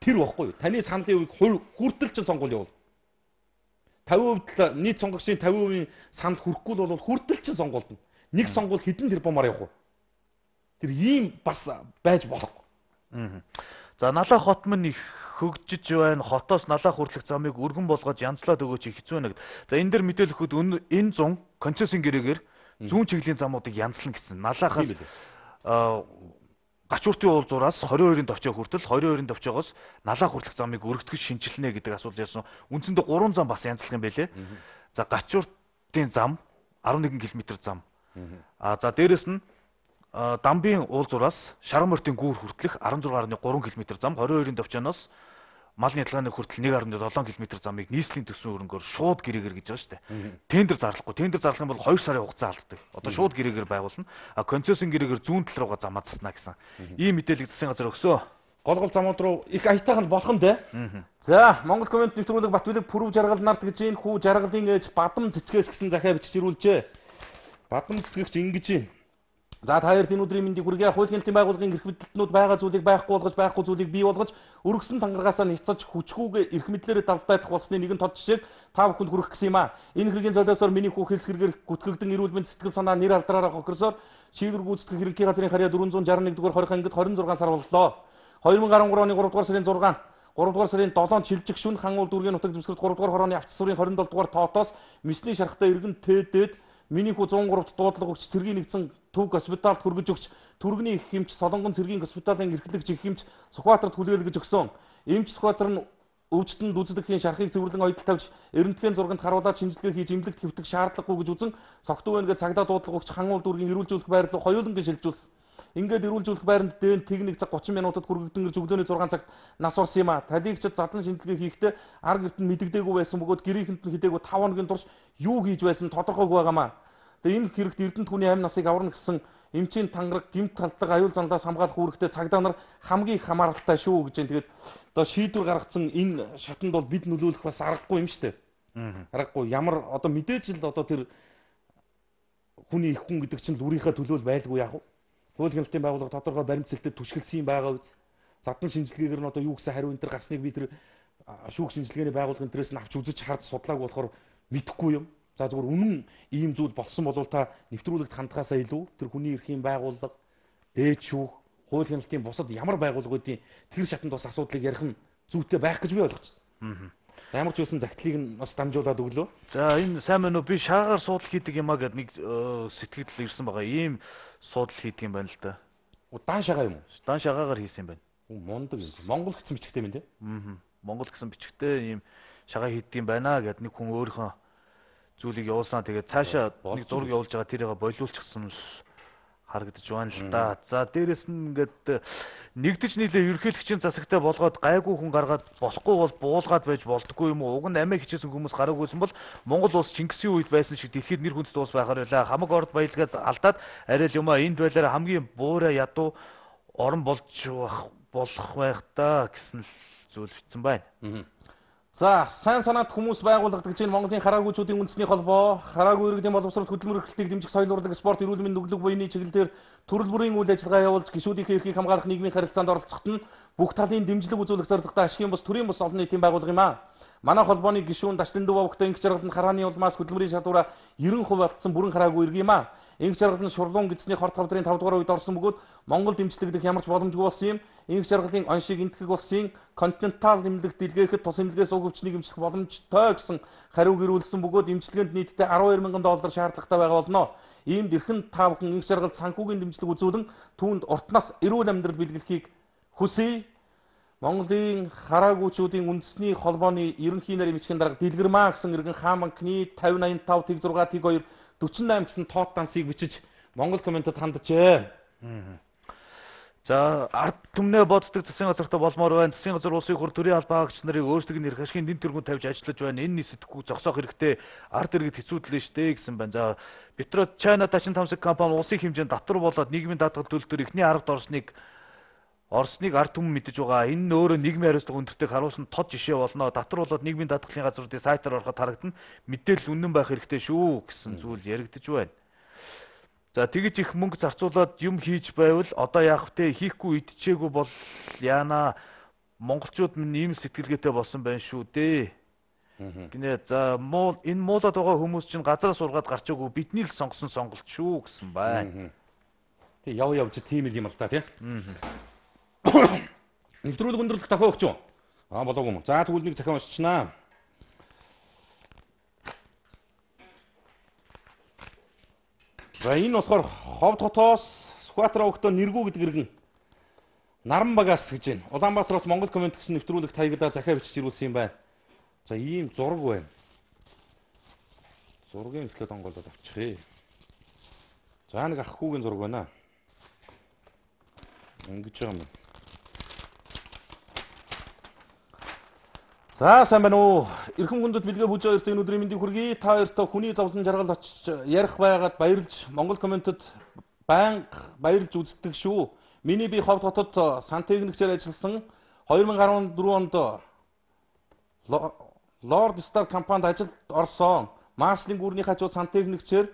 тэр баггүй. Таны сандын өвийг хүртэл чинь сонгуул явуул. тавин хувьд нийт сонгогчдын тавин хувийн санд хүрэхгүй бол хүртэл чинь сонгуульдна. Нэг сонгуул хэдэн тэрбумаар явах вэ? Тэр ийм бас байж болохгүй. За налаа хот мань их хөгжиж байна. Хотоос налаа хүртэлх замыг өргөн болгож янзлаад өгөөч хэцүү нэг. За энэ дэр мэдээлэхэд энэ зун концессийн гэрээгээр зүүн чиглэлийн замуудыг янзлана гэсэн. Налаахаас Гачууртын уулзуураас двадцать two-ын товчоо хүртэл двадцать two-ын товчоогоос налаа хүртэлх замыг өргөтгөж шинжилнэ гэдэг асуулт ярьсан. Үндсэндээ гурван зам бас янзлах юм байлээ. За Гачууртын зам eleven км зам. А за дээрэс нь Дамбын уулзуураас Шаран-морьтын гүүр хүртэлх sixteen point three км зам двадцать two-ын товчооноос малны ялгааны хүртэл one point seven км замыг нийслэлийн төсвийн хөрөнгөөр шууд гэрээгээр гэж байгаа шүү дээ. Тендер зарлахгүй. Тендер зарлах юм бол two сарын хугацаа алддаг. Одоо шууд гэрээгээр байгуулна. А концессийн гэрээгээр зүүн тал руугаа замаа заснаа гэсэн. Ийм мэдээлэл засгийн газар өгсөө. Гол гол замууд руу их аятайхан болох нь дээ. За, Монгол комент нэвтрүүлэг Батбилэг Пүрэв жаргал нарт гэж энэ хүү жаргалын ээж Бадам цэцгээс гэсэн захиа бичиж ирүүлжээ. Бадам цэцгэгч ингэж юм. За та хоёр энэ өдрийн мэндийг хүргэе. Хууль нэлтийн байгууллагын эрх мэдэлтнүүд байгаа зүйлийг байхгүй болгож, байхгүй зүйлийг бий болгож, өргөсөн тангаргаасаа няцаж хүчгүйгээр эрх мэдлээрээ далдайдах болсны нэгэн тод жишээг та бүхэнд хүргэх гэсэн юм аа. Энэ хэргийн золиосоор миний хүү хэлсгэргээр гүтгэгдэн эрүүл мэнд сэтгэл санаа нэр алдраараа хохирсоор шийдвэр гүйцэтгэх хэргийн газрын харьяа four hundred sixty-one дугаар хорих ангид twenty-six сар боллоо. twenty twelve оны three дугаар сарын six, three дугаар сарын seven чилжих шүн хан уул дүүргийн нутаг зөвсгөрт three дугаар хорооны авч сурын twenty-seven дугаар тоотоос мисний шархтаа иргэн тээдээд миний хүү one oh three дуудлага өгч цэргийн нэгдсэн төв госпиталд хүргэж өгч түргэний их хэмч Солонгон цэргийн госпиталын эрхлэгч их хэмч Сүхбаатарт хүлээлгэж өгсөн. Эмч Сүхбаатар нь өвчтөнд үзлэхийн шархыг цэвэрлэн ойдол тавьж эрдэнэтлийн зурганд харуулаад шинжилгээ хийж эмнэлэгт хэвтэх шаардлагагүй гэж үзэн согтуу байна гэж цагдаа дуудлага өгч хан уул дүүргийн эрүүлжүүлэх байр руу хоёулангийн шилжүүлсэн. Ингээд эрүүлжүүлэх байранд дээн техник цаг thirty минутад хүргэгдэн зөвлөөний six цагт нас орсон юм а. Талигчид задлан шинжилгээ хийхдээ ар гэрт нь мэдэгдээгүй байсан бөгөөд гэрийнхэнд нь хідээгүй five хоногийн турш юу хийж байсан тодорхойгүй байгаамаа. Тэгээ энэ хэрэгт эрдэнэт хүний амь насыг аварна гэсэн эмчийн тангараг гэмт талдлага аюул занлаас хамгаалах үүрэгтэй цагдаа нар хамгийн их хамааралтай шүү гэж байна. Тэгээд одоо шийдвэр гаргацсан энэ шатанд бол бид нөлөөлөх бас аргагүй юм шүү дээ. Аргагүй. Ямар одоо мэдээж л одоо тэр хүний их хүн гэдэг чинь л үрийнхээ төлөөл байлгүй яах вэ? Хууль хяналтын байгууллага тодорхой баримтцэлтэд түшгэлсэн юм байгаа үз. Задлан шинжилгээгээр нь одоо юу гэсэн хариу энэ төр гарсныг би тэр шүүх шинжилгээний байгууллагын төрөөс нь авч үзэж харж судлаагүй болохоор мэдэхгүй юм. За зүгээр үнэн ийм зүйл болсон бол та нэвтрүүлэгт хандхаасаа илүү тэр хүний эрхийн байгууллага, дээд шүүх, хууль хяналтын бусад ямар байгууллагуудын тэр шатанд бас асуудлыг ярих нь зүйтэй байх гэж би ойлгож байна. Ямар ч үсэн загтлыг нь бас дамжуулаад өглөө. За энэ сайн мэн үү би шаагаар суудл хийдэг юм а гэд нэг сэтгэл ирсэн байгаа. Ийм суудл хийдэг юм байна л да. Дан шагаа юм уу? Дан шагаагаар хийсэн юм байна. Мундаг юм. Монгол гэсэн бичгтэй юм тий. Аа. Монгол гэсэн бичгтэй ийм шагаа хийдэг юм байна гэд нэг хүн өөрийнхөө зүйлийг явуулсан. Тэгээд цаашаа нэг зураг явуулж байгаа тэрийг болиулчихсан харагдаж байна л да. За дээрэс нь ингээд нэгдэж нийлээ ерөнхийлөгчийн засагтай болгоод гайгүй хүн гаргаад болохгүй бол буулгаад байж болдгоо юм уу? Уг нь амиа хичээсэн хүмүүс гараагүйсэн бол Монгол улс Чингисийн үед байсан шиг дэлхийд нэр хүндтэй улс байхаар байлаа. Хамаг орд баялгаад алдаад арай л юм а энд байлаараа хамгийн буурай ядуу орон болж болох байх та гэсэн зүйл бичсэн байна. За, сайн санаат хүмүүс байгууллагад гэж Монголын хараагүйчүүдийн үндэсний холбоо, хараагүй иргэдийн боловсролт хөдөлмөр эрхлэлтийг дэмжих соёл урлаг, спорт, эрүүл мэндийн нүглэг буйны чиглэлээр төрөл бүрийн үйл ажиллагаа явуулж гишүүдийн эрхийг хамгаалах нийгмийн харилцаанд оролцоход нь бүх талын дэмжлэг үзүүлэх зорилготой ашигын бус төрийн бус олон нийтийн байгууллага юм а. Манай холбооны гишүүн Даштин Дөвөвөгтэй ингэж жаргаланд харааны улмаас хөдөлмөрийн шалгуураа ninety percent алдсан бүрэн хараагүй иргэн юм а. Ингэж жаргаланд шурлуун гидсний хорт хавдрын five дугаар үед орсон бөгөөд Монгол дэмжлэгдэх ямар ч боломжгүй болсон юм. Ингэж жаргалын оншиг энтгэх улсын континентал нэмлэгт дэлгээхэд тус нэмлэгээс уг өвчнийг эмчлэх боломжтой гэсэн хариу гэрүүлсэн бөгөөд эмчилгээнд нийтдээ twelve thousand доллар шаардлагатай байгаа болно. Иймд эрхэм та бүхэн ингэж жаргалд санхүүгийн дэмжлэг үзүүлэн түүнд уртнаас эрүүл амьдрал бэлгэлхийг хүсье. Монголын хараагүйчүүдийн үндэсний холбооны ерөнхий нарийн бичгийн дарга Дэлгэрмаа гэсэн иргэн хаан банкны five ninety-five тэг six тэг two forty-eight гэсэн тоот дансыг бичиж Монгол комментэд ханджээ. За ард түмнээ боддог засгийн газартай болмоор байна. Засгийн газар улсын хур төрийн албаа хаагч нарыг өөрсдийн нэр хашгийн дэнд тэргүүнд тавьж ажиллаж байна. Энэ нийсэтгэхгүй зогсоох хэрэгтэй. Ард иргэд хэцүүдлээ штэ гэсэн байна. За Петро Чайна Дачин Тамсаг компани улсын хэмжээнд татвар болоод нийгмийн даатгал төлөлтөөр эхний аргад орсныг Орсныг ард түмэн мэдэж байгаа. Энэ нь өөрөө нийгмийн хариуцлага өндөртэйг харуулсан тод жишээ болно. Татвар болоод нийгмийн даатгалын газруудын сайтаар ороход харагдана. Мэдээлэл үнэн байх хэрэгтэй шүү гэсэн зүйл яригдж байна. За тэгэж их мөнгө зарцуулаад юм хийж байвал одоо яах вэ? Хийхгүй идчихээгүй бол яана. Монголчууд минь ийм сэтгэлгээтэй болсон байна шүү дээ. Гинэ за муу энэ муулаад байгаа хүмүүс чинь газраас ургаад гарч аагүй бидний л сонгосон сонголт шүү гэсэн байна. Тэг яв явж тийм л юм л та тий. Аа. Нэвтрүүлэг өндөрлөх дахиад өгч юу? Аа болоогүй юм. За тэгвэл нэг захиан уншичнаа. За энэ болохоор Ховд хотоос Сүхбаатар өвгтөө нэргүү гэдэг иргэн Наран багаас гэж байна. Улаанбаатараас Монгол комент гэсэн нэвтрүүлэг таяглаа захиа бичиж ирүүлсэн юм байна. За ийм зураг байна. Зургийн ихлээд онголоод авчихъя. За нэг ах хүүгийн зураг байна. Ингэж байгаа юм. За сайн байна уу? Эрхэм хүндэт бэлгээ бүж хоёрт энэ өдрийн мэндийг хүргэе. Та хоёртоо хүний зовлон жаргал очиж ярих байгаад баярлж Монгол комментэд байнга баярлж үздэг шүү. Миний би Ховд хотод сантехникчээр ажилласан two thousand four онд Lord Star компанид ажилд орсон. Маршлын гүрний хажууд сантехникчээр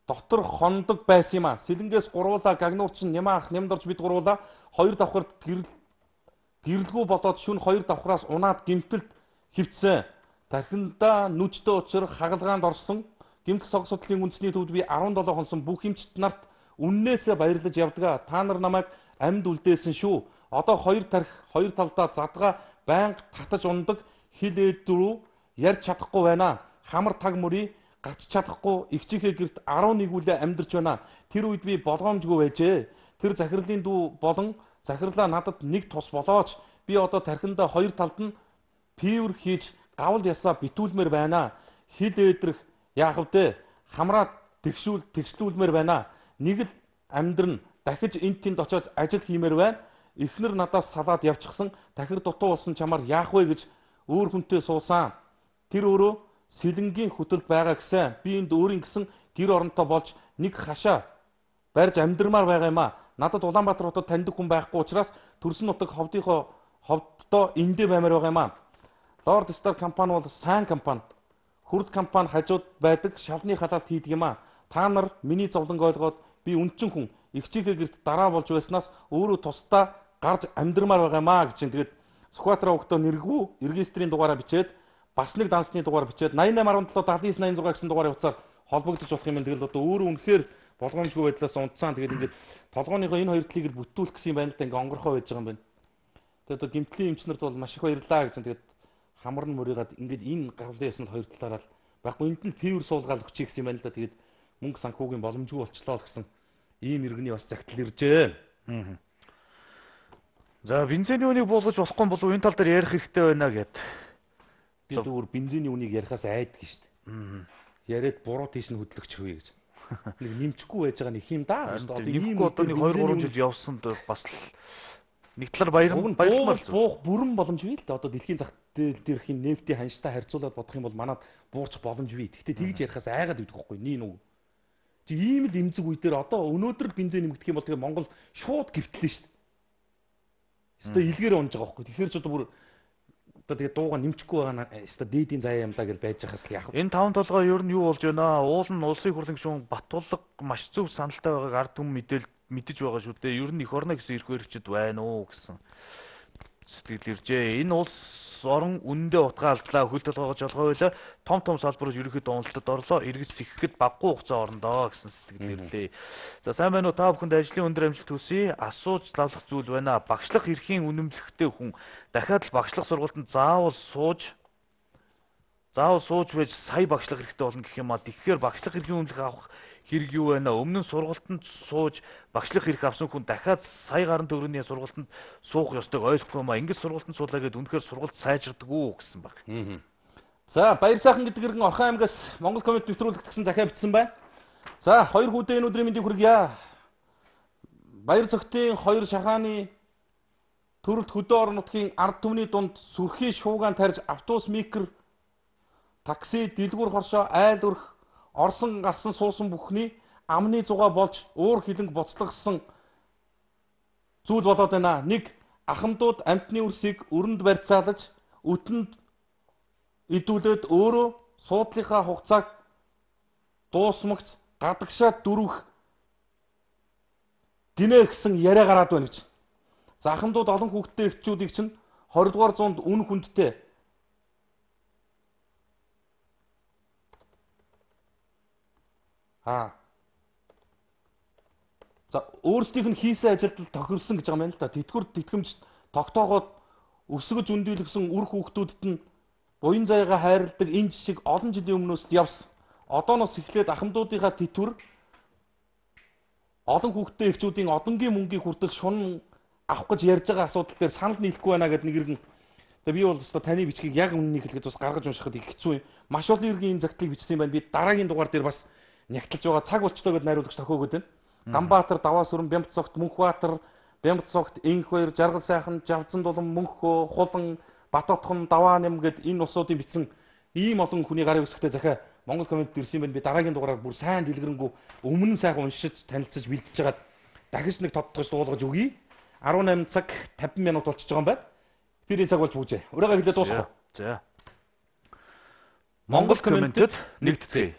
дотор хондог байсан юм а. Сэлэнгээс гуруула гагнуурчин нямаах нямдорж бид гуруула хоёр давхарт гэрэл гэрэлгүй болоод шүн хоёр давхраас унаад гимтэлд хөвцсөн. Тархиндаа нүчтэй учрах хагалгаанд орсон. Гимтэл сог судлалын үндэсний төвд би seventeen хонсон бүх эмчт нарт үннээсээ баярлаж явдгаа. Та нар намайг амьд үлдээсэн шүү. Одоо хоёр тархи хоёр талдаа задгаа байнга татаж ундаг хил ээдрүү ярьж чадахгүй байна. Хамар таг мөрий гарч чадахгүй ихчийнхээ гэрт eleven үлээ амьдарч байна. Тэр үед би болгоомжгүй байжээ. Тэр захирлын дүү болон захирлаа надад нэг тус болооч би одоо тархиндаа хоёр талд нь пивер хийж гавл ясаа битүүлмээр байна. Хил ээдрэх яах вэ? Хамраа тэгшүүл тэгшлүүлмээр байна. Нэг л амьдрын дахиж энд тэнд очиж ажил хиймээр байна. Эхнэр надаас салаад явчихсан. Дахир дутуу болсон чамаар яах вэ гэж өөр хүнтэй суусан. Тэр өөрөө сэлэнгийн хөтөлд байгаа гэсэн. Би энд өөрийн гэсэн гэр оронтой болж нэг хашаа барьж амьдрмаар байгаа юм а. Надад Улаанбаатар хотод таньдаг хүн байхгүй учраас төрсөн нутаг ховдынхоо ховддоо эндээ баймаар байгаа юм а. Lord Star компани бол сайн компани. Хүрд компани хажууд байдаг шалны халаалт хийдэг юм а. Та нар миний зовлонг ойлгоод би үнчин хүн ихчийнхээ гэрт дараа болж байснаас өөрөө тусдаа гарч амьдрмаар байгаа юм а гэж. Тэгээд Сүхбаатар өвгтөө нэргүү регистрийн дугаараа бичээд бас нэг дансны дугаар бичээд eighty-eight seventy-seven ninety-nine гэсэн дугаарыг утсаар холбогдож болох юм. Тэгэл одоо өөрөө үнэхээр болгоомжгүй байдлаас унтсан. Тэгээд ингээд толгойнхоо энэ хоёр талыг бүтүүлэх гэсэн юм байна л да. Ингээ онгорхоо байж байгаа юм байна. Тэгээд одоо гимтлийн эмчнэрд бол маш их баярлаа гэж. Тэгээд хамар нь мөрийгаад ингээд энэ гавлын ясанд хоёр талаараа л байхгүй энд нь фивер суулгаал өгчих гэсэн юм байна л да. Тэгээд мөнгө санхүүгийн боломжгүй болчлоо л гэсэн ийм иргэний бас загтал иржээ. Аа. За бензиний үнийг буулгаж болохгүй болов энэ тал дээр ярих хэрэгтэй байна гэд. Би зүгээр бензиний үнийг ярихаас айдаг шүү дээ. Аа. Яриад буруу тийш нь хөдлөгч хөвье гэж. Нэг нэмчихгүй байж байгаа нэг юм да. Одоо ийм одоо нэг two three жил явсанд бас нэг талаар баярхан баярмаар буух бүрэн боломж бий л да. Одоо дэлхийн зах зээл дээрхийн нефтийн ханштай харьцуулаад бодох юм бол манад буурч боломж бий. Гэхдээ тэгж ярихаас айгаад идэх байхгүй ний нүг. Чи ийм л эмзэг үе дээр одоо өнөөдөр л бензин нэмэгдэх юм бол тэгээ Монгол шууд гэртлээ шүү дээ. Эсвэл илгээр унж байгаа байхгүй. Тэгэхээр ч одоо бүр одоо тэгээ дууга нэмчихгүй байгаа нь эсвэл дээдийн заяа юм даа гэж байж байхаас л яах вэ? Энэ таван толгой ер нь юу болж байна? Уул нь улсын хурлын гишүүн Батулга маш зөв саналтай байгааг ард түмэн мэдээл мэдэж байгаа шүү дээ. Ер нь эх орно гэсэн эрх баригчид байна уу гэсэн сэтгэл иржээ. Энэ улс орон үнэндээ утгаа алдлаа, хөл толгойгоо жолгоо байлаа. Том том салбарууд ерөнхийдөө уналтад орлоо. Эргэж сэгхэхэд баггүй хугацаа орондоо гэсэн сэтгэл ирлээ. За сайн байна уу? Та бүхэнд ажлын өндөр амжилт хүсье. Асууж лавлах зүйл байна. Багшлах эрхийн үнэмлэхтэй хүн дахиад л багшлах сургалтанд заавал сууж заавал сууж байж сая багшлах хэрэгтэй болно гэх юм а. Тэгэхээр багшлах эрхийн үнэмлэх авах хэрэг юу байна? Өмнө нь сургалтанд сууж багшлах эрх авсан хүн дахиад сая гаруй төгрөгийн сургалтанд суух ёстойг ойлгох юм а. Ингээд сургалтанд суулаа гэдээ үнэхээр сургалт сайжирдаг уу гэсэн баг. За баяр сайхан гэдэг иргэн Орхон аймгаас Монгол комент нэвтрүүлэгт гэсэн захиа бичсэн байна. За хоёр хүүдээ энэ өдрийн мэндийг хүргье. Баяр цогтын хоёр шахааны төрөлт хөдөө орон нутгийн ард түмний дунд сүрхий шуугаан тарьж автобус микр такси дэлгүүр хоршоо айл өрх орсон гарсан суусан бүхний амны зугаа болж уур хилэнг буцлагсан зүйл болоод байна. Нэг ахмадууд амтны үрсийг өрөнд барьцаалж өтөнд идүүлээд өөрөө суудлынхаа хугацааг дуусмагц гадагшаа дөрвөх гинэ гэсэн яриа гараад байна гэж. За ахмадууд олон хүүхэдтэй эхчүүдийг чинь twenty дугаар зуунд үн хүндтэй Аа. За өөрсдийнх нь хийсэн ажилд тохирсон гэж байгаа юм байна л да. Тэтгэвэр тэтгэмж тогтоогоод өсгөж өндүүлгсэн үр хүүхдүүдэд нь буян заяага хайрладаг энэ жишг олон жилийн өмнөөс явсан. Одооноос эхлээд ахмадуудынхаа тэтгэвэр олон хүүхдтэй эхчүүдийн одонгийн мөнгийг хүртэл шунан авах гэж ярьж байгаа асуудал дээр санал нийлэхгүй байна гэдэг нэг иргэн. Тэгээ би бол өстой таны бичгийг яг үннийг хэлгээд бас гаргаж уншихад их хэцүү юм. Маш олон иргэн энэ загтлыг бичсэн юм байна. Би дараагийн дугаар дээр бас нягтлж байгаа цаг болчтой гэдээ найруулагч тохиогод байна. Ганбаатар, Даваасүрэн, Бямбцогт, Мөнхбаатар, Бямбцогт, Энхбаяр, Жаргал сайхан, Жавцан дулам, Мөнхөө, Хулан, Батотхон, Давааням гэд энэ усуудын бичсэн ийм олон хүний гарын үсгтээ захиа Монгол коммент ирсэн юм байна. Би дараагийн дугаараар бүр сайн дэлгэрэнгүй өмнө нь сайхан уншиж танилцаж бэлдэж хагаад дахиж нэг тодтогч дуулгаж өгье. арван найман цаг тавин минут болчихж байгаа юм байна. Эфирийн цаг болж бүжээ. Өрөөгөө хэлээд дуусгах. За. Монгол комментэд нэгтгэцгээе.